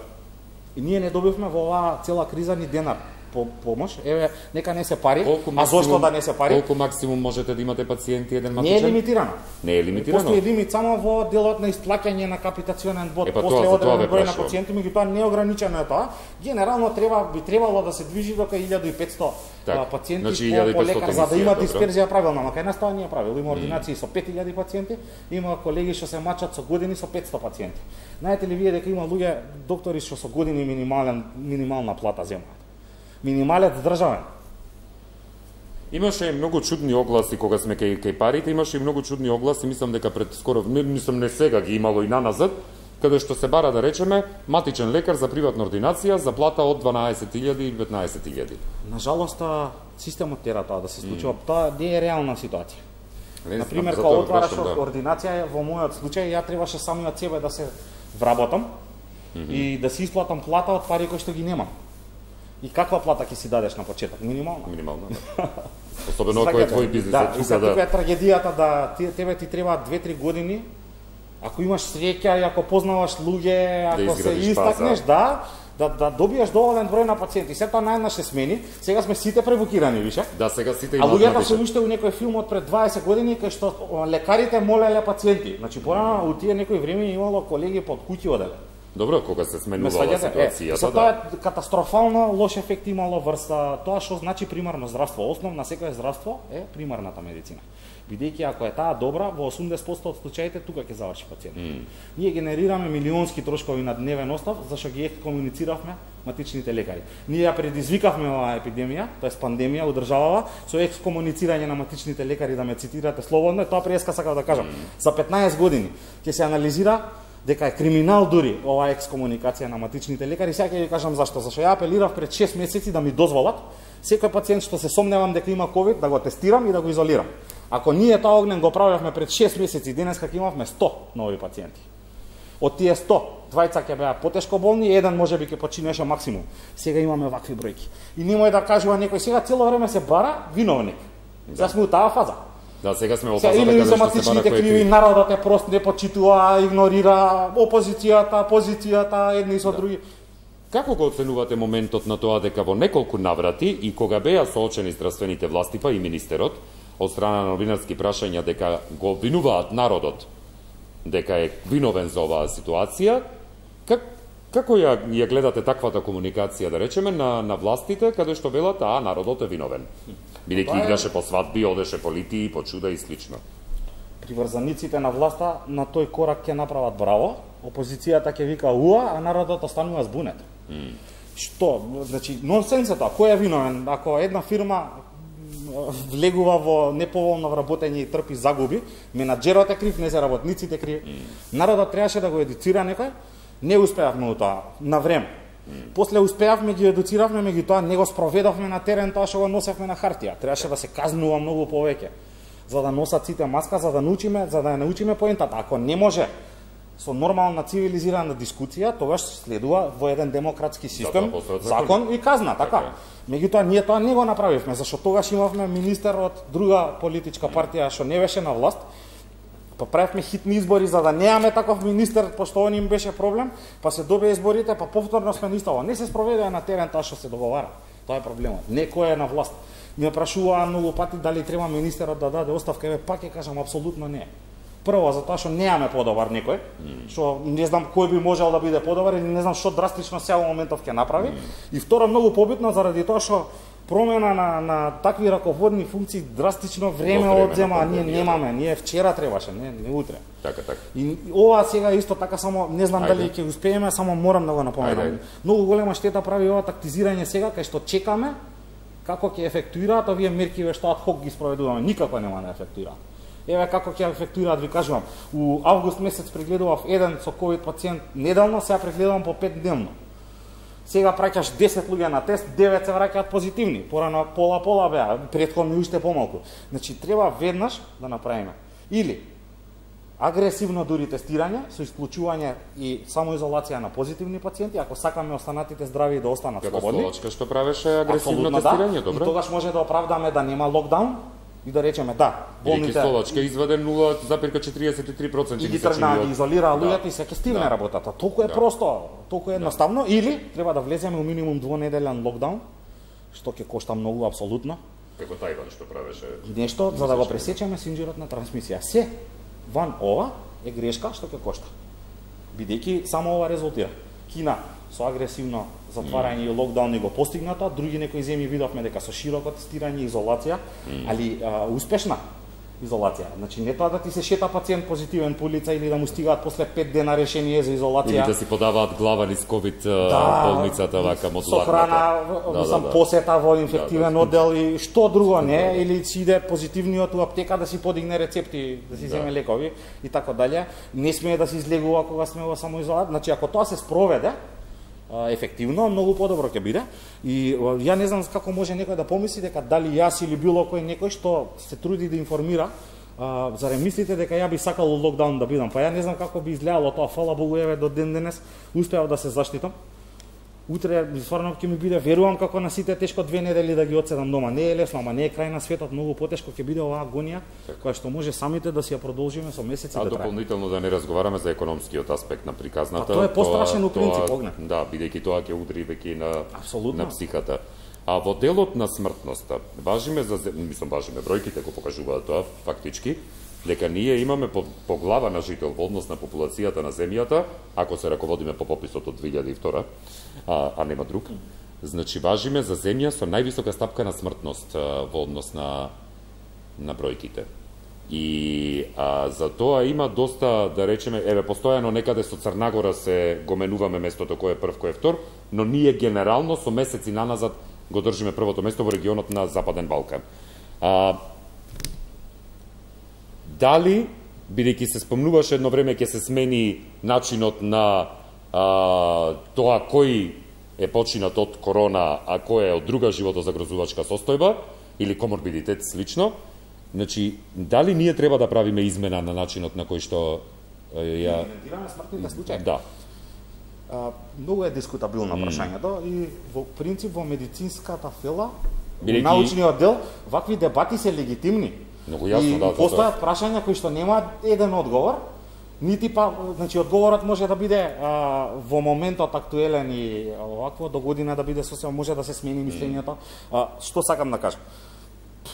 И ние не добивме во оваа цела криза ни денар по помош. Еве, нека не се пари, колку а зошто да не се пари? Колку максимум можете да имате пациенти еден матичен? Не е лимитирано. Не е лимитирано. Постои лимит само во делот на исплаќање на капитационен бод. Епа, после тоа, одреден број на пациенти, меѓутоа неограничено е тоа. Генерално треба би требало да се движи до илјада и петсто так, пациенти значи, по, по лекар, за да има добро. дисперзија правилно. Но кај нас тоа не е правилно. Има ординации mm. со пет илјади пациенти, има колеги што се мачат со години со петсто пациенти. Знаете ли вие дека има луѓе доктори што со години минимален минимална плата земаат? Минималец државен. Имаше многу чудни огласи кога сме кај кај парите, имаше и многу чудни огласи, мислам дека пред скоро, мислам не сега ги имало и наназад, каде што се бара да речеме матичен лекар за приватна ординација за плата од дванаесет илјади или петнаесет илјади. Нажалост, системот тера тоа да се случува. Mm. Тоа не е реална ситуација. Не, например, кога отвараш да. ординација, во мојот случај ја требаше самиот себе да се вработам mm -hmm. и да си исплатам плата од пари кои што ги немам. И каква плата ќе си дадеш на почеток? Минимална. Минимална, да. Особено ако е твој бизнес. Да, е тука, да. Тука е трагедијата да тебе ти треба две-три години, ако имаш среќа и ако познаваш луѓе, ако да се истакнеш, да, да, да добиеш доволен број на пациенти. Се тоа најнаш се смени, сега сме сите превукирани, више? Да, сега сите имаат. А луѓето се уште у некој филм од пред дваесет години, кај што лекарите молеле пациенти. Значи, порано у тие некој време имало колеги под куќи оделе. Добро, кога се сменувала ситуацијата, е, тоа е катастрофално лош ефект имало врз тоа што значи примарно здравство. Основ на секое здравство е примарната медицина. Бидејќи ако е таа добра, во осумдесет проценти од случаите тука ќе заврши пациентот. Mm. Ние генерираме милионски трошкови на дневен остав, зашто ги екскомунициравме матичните лекари. Ние ја предизвикавме оваа епидемија, тоест пандемија у државава, со екскомуницирање на матичните лекари, да ме цитирате слободно, тоа преска сакав да кажам. Mm. За петнаесет години ќе се анализира дека е криминал дури оваа екскомуникација на матичните лекари. Сега ќе ви кажам зашто. Зашто ја апелирав пред шест месеци да ми дозволат секој пациент што се сомневам дека има ковид да го тестирам и да го изолирам. Ако ние тоа огнен го правевме пред шест месеци, денеска ќе имавме сто нови пациенти. Од тие сто, двајца ќе беа потешко болни, еден можеби ќе починеше максимум. Сега имаме вакви бројки. И немој да кажува некој сега цело време се бара виновник. Да. Сме у таа фаза. Да, сега сме во фаза дека нешто се бара матичните криви, народот е прост, не почитува, игнорира опозицијата, позицијата, едни со други. Како го оценувате моментот на тоа дека во неколку наврати и кога беа соочени здравствените власти, па и министерот, од страна на новинарски прашања дека го обвинуваат народот дека е виновен за оваа ситуација, как, како ја, ја гледате таквата комуникација, да речеме, на, на властите, каде што велат, а народот е виновен? Бидејќи играше по свадби, одеше по литии, по чуда и слично. Приврзаниците на власта на тој корак ќе направат браво, опозицијата ќе вика уа, а народот останува збунет. Mm. Што? Значи, нонсенс е тоа. Кој е виновен? Ако една фирма влегува во неповолно вработење и трпи загуби, менаџерот е крив, не се работниците криви. Mm. Народот требаше да го едуцира некој, не успеавме у тоа на време. Mm. После успеавме, ги едуциравме, меѓутоа не го спроведовме на терен тоа што го носевме на хартија. Требаше да се казнува многу повеќе за да носат сите маска, за да научиме, за да ја научиме поентата. Ако не може со нормална цивилизирана дискусија, тогаш следува во еден демократски систем закон и казна, така. Меѓутоа ние тоа не го направивме, зашто тогаш имавме министер од друга политичка партија што не беше на власт. Па правевме хитни избори за да немаме таков министер, пошто он им беше проблем, па се добија изборите, па повторно сме нистово. Не се спроведува на терен тоа што се договара. Тоа е проблемот. Некој е на власт. Ме прашуваа многу пати дали треба министерот да даде оставка, еве пак ќе кажам апсолутно не. Прво затоа што немаме подобар некој, што не знам кој би можел да биде подобар или не знам што драстично сега во моментов ќе направи. И второ многу побитно заради тоа што промена на, на такви раководни функции драстично време одзема, а ние немаме, ние вчера требаше, не, не утре. Така, така. И ова сега исто така само не знам Ајде. Дали ќе успееме, само морам да го напоменам. Многу голема штета прави ова тактизирање сега кај што чекаме како ќе ефектуираат овие мерки што ад хок ги спроведуваме, никако нема да ефектуираат. Еве како ќе ефектуираат, ви кажувам. У август месец прегледував еден со ковид пациент неделно, сега прегледувам по пет дневно. Сега праќаш десет луѓе на тест, девет се враќаат позитивни. Порано пола-пола беа, претходно уште помалку. Значи треба веднаш да направиме. Или агресивно дури тестирање со исклучување и самоизолација на позитивни пациенти, ако сакаме останатите здрави и да останат како слободни. Како Словачка што правеше агресивно тестирање, да. добро. И тогаш може да оправдаме да нема локдаун и да речеме да, болните Словачка изваде нула зарез четириесет и три проценти и ги тргна да ги изолираа луѓето да. И се ќе стигне да. Работата. Толку е да. Просто, толку е едноставно да. Или треба да влеземе у минимум двонеделен локдаун, што ќе кошта многу апсолутно. Како Тајван што правеше нешто за да го пресечеме синџирот на трансмисија. Се ван ова е грешка што ќе кошта. Бидејќи само ова резултира. Кина со агресивно затварање mm. и локдаун го постигната, други некои земји видовме дека со широко тестирање и изолација, mm. али а, успешна изолација. Значи не тоа да ти се шета пациент позитивен по улица или да му стигаат после пет дена решение за изолација. Или да си подаваат глава низ ковид да, болницата вака модуларната. Со храна, да, сам да, да. Посета во инфективен да, да. Оддел и што друго не, да, да. Или си иде позитивниот у аптека да си подигне рецепти, да си да. Земе лекови и така дале. Не смее да се излегува кога сме во самоизолација. Значи ако тоа се спроведе ефективно, многу подобро ќе биде. И ја не знам како може некој да помисли дека дали јас или било кој некој што се труди да информира, а, зарем мислите дека ја би сакал локдаун да бидам, па ја не знам како би изгледало тоа, фала Богу, еве до ден денес успеав да се заштитам. Утре стварно ќе ми биде, верувам како на сите тешко две недели да ги одседам дома. Не е лесно, ама не е крај на светот, многу потешко ќе биде оваа агонија, која што може самите да си ја продолжиме со месеци да трае. А дополнително да не разговараме за економскиот аспект на приказната. А тоа е пострашен у принцип, огне. Да, бидејќи тоа ќе удри веќе на Абсолютно. На психата. А во делот на смртноста, важиме за, мислам важиме бројките го покажуваат тоа фактички, дека ние имаме по, по глава на жител во однос на популацијата на земјата, ако се раководиме по пописот од две илјади и втора, а, а нема друг. Значи важиме за земја со највисока стапка на смртност а, во однос на на бројките. И а, за тоа има доста, да речеме, еве постојано некаде со Црнагора се го менуваме местото кој е прв, кој е втор, но ние генерално со месеци наназад го држиме првото место во регионот на Западен Балкан. А, Дали, бидејќи се спомнуваше едно време ќе се смени начинот на а, тоа кој е починат од корона, а кој е од друга животозагрозувачка состојба, или коморбидитет слично, значи, дали ние треба да правиме измена на начинот на кој што ја... Иментираме смртните случаи? Да. А, многу е дискутабилно mm. прашањето и во принцип во медицинската фела, во научниот дел, вакви дебати се легитимни. Многу јасно, и да, постојат прашања кои што немаат еден одговор, нити па, значи одговорот може да биде а, во моментот актуелен и овакво до година да биде сосема, може да се смени мислењето. А, што сакам да кажам?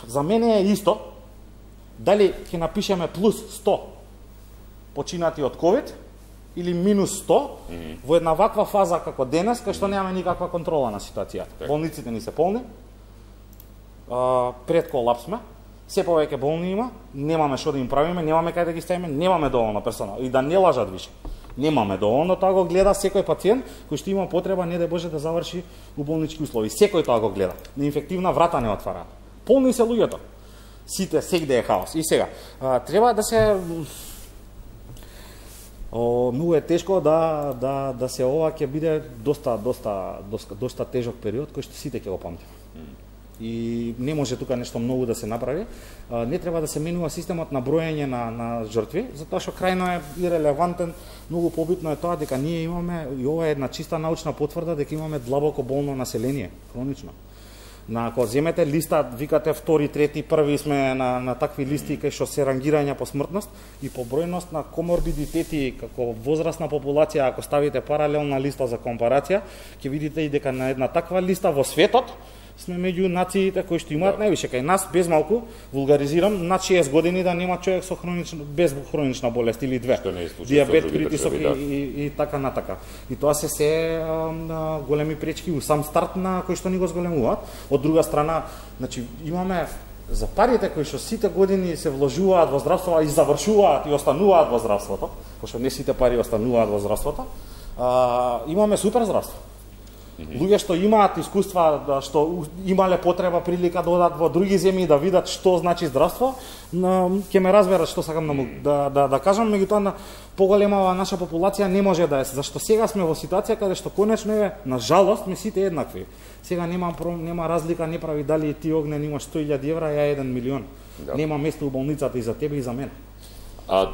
За мене е исто дали ќе напишеме плюс сто починати од ковид или минус сто mm -hmm. во една ваква фаза како денес, кај што немаме никаква контрола на ситуацијата. Так. Болниците ни се полни, а, пред колапс сме, се повеќе болни има, немаме што да им правиме, немаме кај да ги ставиме, немаме доволно персонал. И да не лажат више. Немаме доволно, тоа го гледа секој пациент кој што има потреба, не да Боже да заврши у болнички услови. Секој тоа го гледа. На инфективна врата не отвараат. Полни се луѓето. Сите, сегде е хаос. И сега, а, треба да се... О, многу е тешко да да да се ова ќе биде доста доста доста доста тежок период кој што сите ќе го памтиме. И не може тука нешто многу да се направи. Не треба да се менува системот на броење на на жртви, затоа што крајно е ирелевантен. Многу побитно е тоа дека ние имаме, и ова е една чиста научна потврда, дека имаме длабоко болно население, хронично. На ако земете листа, викате втори, трети, први сме на на такви листи кај што се рангирања по смртност и по бројност на коморбидитети како возрастна популација, ако ставите паралелна листа за компарација, ќе видите и дека на една таква листа во светот сме меѓу нациите кои што имаат највише. Кај нас, без малку, вулгаризирам, над шеесет години да нема човек со хронична, без хронична болест или две. Што не е случај диабет, со други притисок држави, да. и, и, и така натака. И тоа се се а, големи пречки у сам старт на кои што ни го зголемуваат. Од друга страна, значи имаме за парите кои што сите години се вложуваат во здравство и завршуваат и остануваат во здравството, пошто не сите пари остануваат во здравството, а, имаме супер здравство. Луѓе што имаат искуства, да, што имале потреба, прилика да одат во други земји да видат што значи здравство, ќе ме разберат што сакам да, да, да, да кажам, меѓутоа на поголемава наша популација не може да е, зашто сега сме во ситуација каде што конечно е, на жалост, сме сите еднакви. Сега нема нема разлика, не прави дали ти Огнен имаш сто илјади евра, ја еден милион. Да. Нема место у болницата и за тебе и за мене. А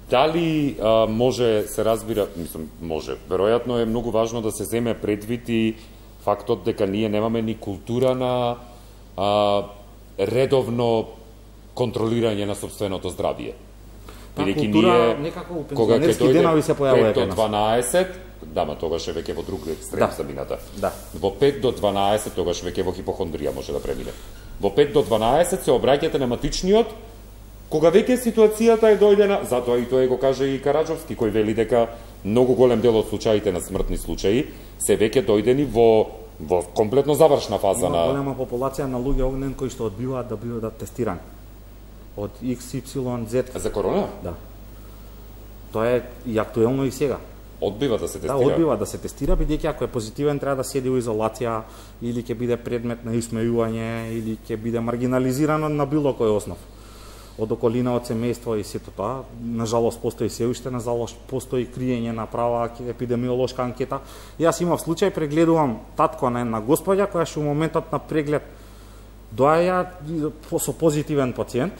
дали а, може се разбира, мислам, може, веројатно е многу важно да се земе предвид и фактот дека ние немаме ни култура на а, редовно контролирање на собственото здравје. Бидејќи ние некако у пензионерски денови се појавува пет до дванаесет, да, ма тогаш е веќе во друг екстрем да. самината. Да. Во пет до дванаесет тогаш веќе во хипохондрија може да премине. Во пет до дванаесет се обраќате на матичниот кога веќе ситуацијата е дојдена, затоа и тој го каже и Караджовски, кој вели дека многу голем дел од случаите на смртни случаи се веќе дојдени во во комплетно завршна фаза. Има на голема популација на луѓе Огнен кои што одбиваат да бидат тестирани од Икс Ипсилон Зет. За корона? Да. Тоа е и актуелно и сега. Одбива да се тестира. Да, одбива да се тестира, бидејќи ако е позитивен треба да седи во изолација или ќе биде предмет на исмејување или ќе биде маргинализирано на било кој основ. Од околина, од семејство и сето тоа. Нажалост постои се уште, нажалост постои криење на права епидемиолошка анкета. Јас имав случај, прегледувам татко на една господја која што у моментот на преглед доаја со позитивен пациент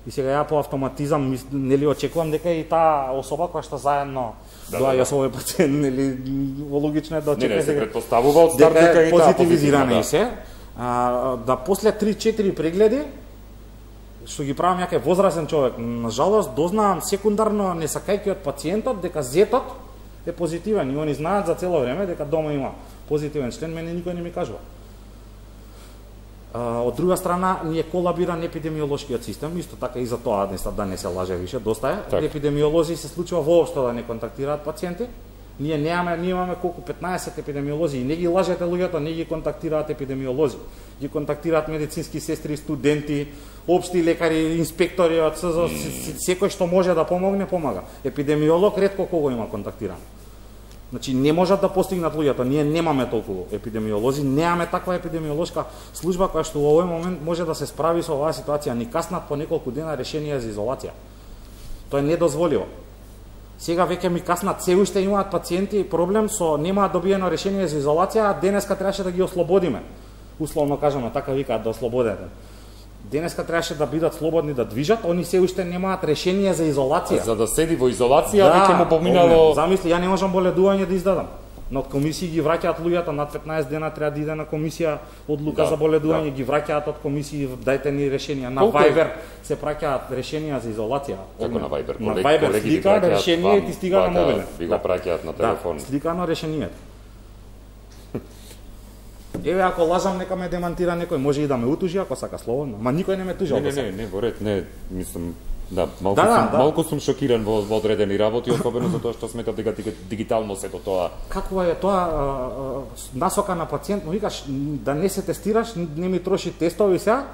и сега ја по автоматизам нели очекувам дека и таа особа која што заедно да, доаја да, да. со овој пациент, нели логично е да очекува. Не, не, се претпоставува од старт дека и таа позитивизирана и се. А, да после три-четири прегледи што ги правам јаке возрасен човек, на жалост дознавам секундарно не сакајќи од пациентот дека зетот е позитивен и они знаат за цело време дека дома има позитивен член, мене никој не ми кажува. А, од друга страна, ние колабиран епидемиолошкиот систем, исто така и за тоа да не се лаже више, доста е. Так. Епидемиолози се случува воопшто да не контактираат пациенти. Ние немаме, ние имаме колку петнаесет епидемиолози и не ги лажете луѓето, не ги контактираат епидемиолози. Ги контактираат медицински сестри, студенти, општи лекари, инспектори од СЗО, mm. секој што може да помогне, помага. Епидемиолог ретко кого има контактиран. Значи не можат да постигнат луѓето, ние немаме толку епидемиолози, немаме таква епидемиолошка служба која што во овој момент може да се справи со оваа ситуација, ни каснат по неколку дена решенија за изолација. Тоа е недозволиво. Сега веќе ми каснат, се уште имаат пациенти проблем со немаат добиено решение за изолација, а денеска требаше да ги ослободиме. Условно кажаме, така викаат да ослободете. Денеска требаше да бидат слободни да движат, они се уште немаат решение за изолација. За да седи во изолација, да, веќе му поминало. Замисли, ја не можам боледување да издадам. Но од комисии ги враќаат луѓето, над петнаесет дена треба да иде на комисија одлука да, за боледување, да. Ги враќаат од комисии, дајте ни решенија. На Колко Viber е? Се праќаат решенија за изолација. Како на Viber? На Viber слика решение и ти стига на мобилен. Ви го праќаат на телефон. Да, сликано решението. Еве, ако лажам, нека ме демантира некој, може и да ме утужи ако сака слободно. Ма никој не ме тужи. Не, не, не, не, во ред, не, мислам, да, малку да, сум, да. малку сум шокиран во, во одредени работи, особено за тоа што сметам дека дигитално сето тоа. Каква е тоа а, а, насока на пациент, му викаш да не се тестираш, не ми троши тестови сега,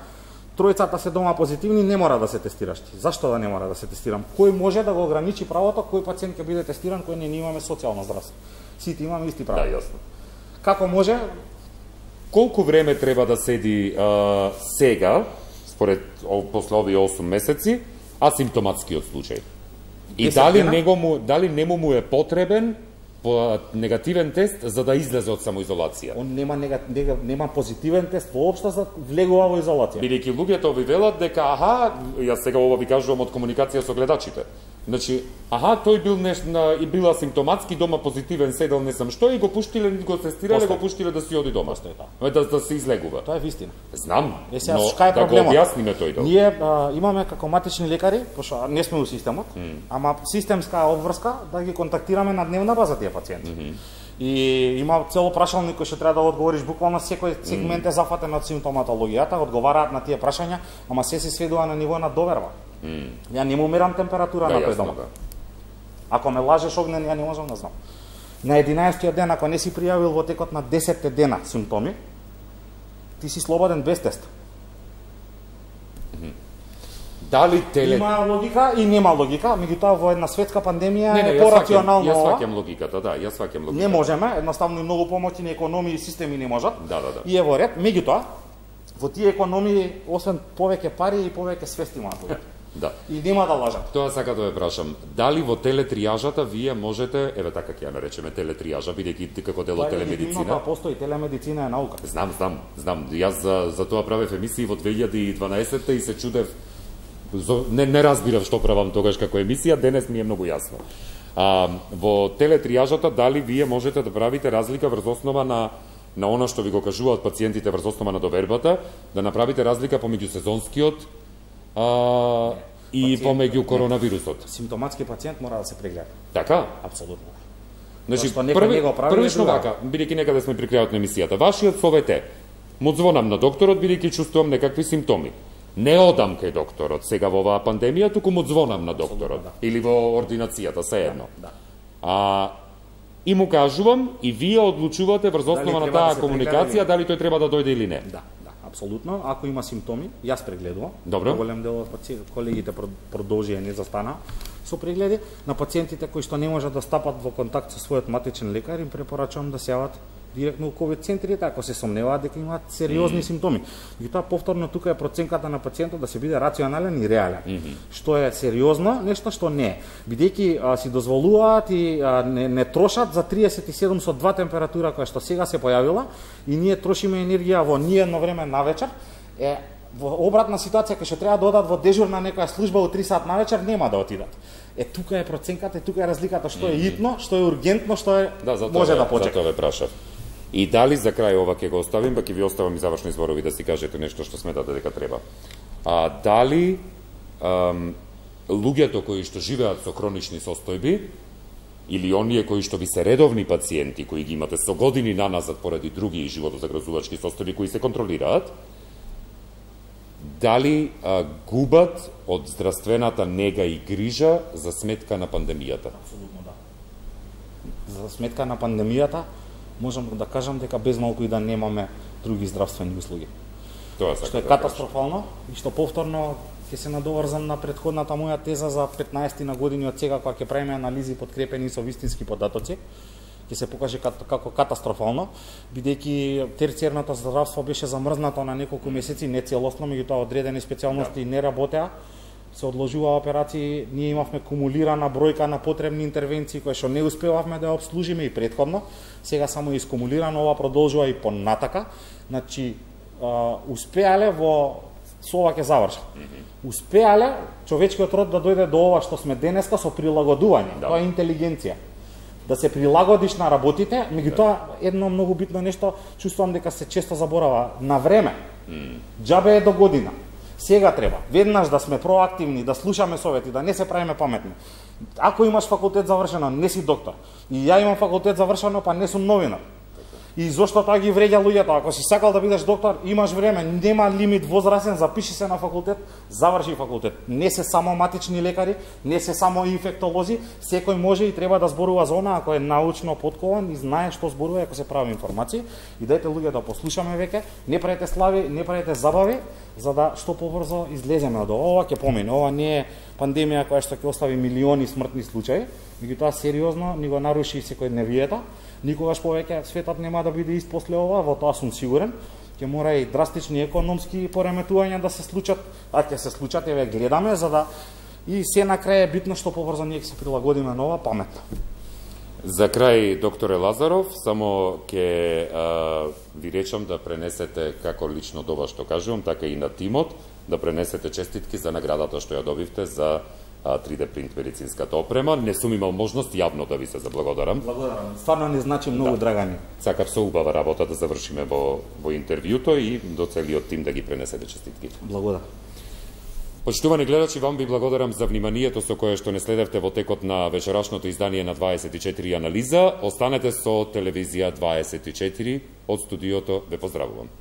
тројцата се дома позитивни, не мора да се тестираш ти. Зашто да не мора да се тестирам? Кој може да го ограничи правото, кој пациент ќе биде тестиран, кој не, не имаме социјално здравство? Сите имаме исти права. Да, јасно. Како може? Колку време треба да седи а, сега, според после овие осум месеци, асимптоматскиот случај? И дали него му, дали нему му е потребен по негативен тест за да излезе од самоизолација? Он нема нега, нега, нема позитивен тест воопшто за влегува во изолација. Бидејќи луѓето ви велат дека аха, јас сега ова ви кажувам од комуникација со гледачите. Значи, аха, тој бил неш на и била симптоматски дома позитивен, седел не сам што и го пуштиле, го тестирале, го пуштиле да си оди дома. Да, да, да се излегува. Тоа е вистина. Знам, е, но е да го објасниме тој дел. Ние а, имаме како матични лекари, пошто не сме у системот, mm. ама системска обврска да ги контактираме на дневна база тие пациенти. Mm -hmm. И има цело прашалник кој што треба да одговориш, буквално секој сегмент е зафатен од симптоматологијата, одговараат на тие прашања, ама се се сведува на ниво на доверба. Mm. Ја не му мерам температура да, на тој дома. Да. Ако ме лажеш огнен, ја не можам да знам. На единаесеттиот ден, ако не си пријавил во текот на десет дена симптоми, ти си слободен без тест. Mm. Дали теле... Има логика и нема логика, меѓутоа во една светска пандемија не, не, е порационално. Јас сваќам логиката, да, јас сваќам логиката. Не можеме, едноставно и многу помоќни економии и системи не можат. Да, да, да. И е во ред, меѓутоа во тие економии освен повеќе пари и повеќе свести имаат луѓето. Да. И нема да лажат. Тоа сака да ве прашам, дали во телетријажата вие можете, еве така ќе ја наречеме телетријажа, бидејќи како дел од телемедицина. Тоа постои, телемедицина е наука. Знам, знам, знам. Јас за за тоа правев емисии во две илјади и дванаесетта и се чудев, не не разбирав што правам тогаш како емисија, денес ми е многу јасно. А, во телетријажата дали вие можете да правите разлика врз основа на на она што ви го кажуваат пациентите врз основа на довербата, да направите разлика помеѓу сезонскиот а, и помеѓу коронавирусот. Симптоматски пациент мора да се прегледа. Така? Апсолутно. Значи, први, првично вака, бидејќи некаде сме при крајот на емисијата, вашиот совет е, му звонам на докторот, бидејќи чувствувам некакви симптоми. Не одам кај докторот сега во оваа пандемија, туку му звонам на докторот. Да. Или во ординацијата, се едно. Да, да. А, и му кажувам, и вие одлучувате врз основа на таа да комуникација, дали тој треба да дојде или не. Да, да, апсолутно. Ако има симптоми, јас прегледувам. Добро. Голем дел од колегите продолжија не застана со прегледи. На пациентите кои што не можат да стапат во контакт со својот матичен лекар, им препорачувам да се јават директно у ковид центрите, ако се сомневаат дека имаат сериозни mm. симптоми. И тоа повторно тука е проценката на пациентот да се биде рационален и реален. Mm -hmm. Што е сериозно, нешто што не е. Бидејќи си дозволуваат и а, не, не трошат за триесет и седум со два температура која што сега се појавила и ние трошиме енергија во ниедно време навечер, е во обратна ситуација кај што треба да одат во дежурна некоја служба у три сат навечер, нема да отидат. Е тука е проценката, тука е разликата што е итно, што е ургентно, што е да, може ве, да почека. Затоа ве прашав. И дали за крај ова ќе го оставим, па ќе ви оставам и завршни зборови да си кажете нешто што сметате дека треба. А дали ам, луѓето кои што живеат со хронични состојби или оние кои што ви се редовни пациенти кои ги имате со години наназад поради други животозагрозувачки состојби кои се контролираат, дали а, губат од здравствената нега и грижа за сметка на пандемијата? Апсолутно да. За сметка на пандемијата можам да кажам дека без малку и да немаме други здравствени услуги. Тоа што е да катастрофално и што повторно ќе се надоврзам на претходната моја теза за петнаесет на години од сега кога ќе правиме анализи подкрепени со вистински податоци, ќе се покаже како катастрофално, бидејќи терцијерното здравство беше замрзнато на неколку месеци, не целосно, меѓутоа одредени специјалности не работеа, се одложува операции, ние имавме кумулирана бројка на потребни интервенции кои што не успевавме да ја обслужиме и претходно, сега само е искумулирано, ова продолжува и понатака, значи успеале во со ова ќе завршам. Успеале човечкиот род да дојде до ова што сме денеска со прилагодување, да. Тоа е интелигенција. Да се прилагодиш на работите, меѓутоа едно многу битно нешто, чувствувам дека се често заборава, на време. Mm. Џабе е до година. Сега треба веднаш да сме проактивни, да слушаме совети, да не се правиме паметни. Ако имаш факултет завршено, не си доктор. И ја имам факултет завршено, па не сум новинар. И зошто тоа ги вреѓа луѓето? Ако си сакал да бидеш доктор, имаш време, нема лимит возрастен, запиши се на факултет, заврши факултет. Не се само матични лекари, не се само инфектолози, секој може и треба да зборува за она ако е научно поткован и знае што зборува ако се прави информации. И дајте луѓето да послушаме веќе, не правете слави, не правете забави, за да што побрзо излеземе од ова. Ова ќе помине. Ова не е пандемија која што ќе остави милиони смртни случаи, меѓутоа сериозно ни го наруши секојдневието. Никогаш повеќе светот нема да биде ист после ова, во тоа сум сигурен. Ќе мора и драстични економски пореметувања да се случат, а ќе се случат, еве гледаме, за да И се на крај е битно што побрзо ние ќе се прилагодиме на ова паметно. За крај, докторе Лазаров, само ќе а, ви речам да пренесете како лично до вас што кажувам, така и на тимот, да пренесете честитки за наградата што ја добивте за а, три Д принт медицинската опрема. Не сум имал можност јавно да ви се заблагодарам. Благодарам. Стварно ни значи многу, да. Драгани. Сакав со убава работа да завршиме во, во интервјуто и до целиот тим да ги пренесете честитките. Благодарам. Почитувани гледачи, вам ви благодарам за вниманието со кое што не следевте во текот на вечерашното издание на дваесет и четири анализа. Останете со телевизија дваесет и четири. Од студиото ве поздравувам.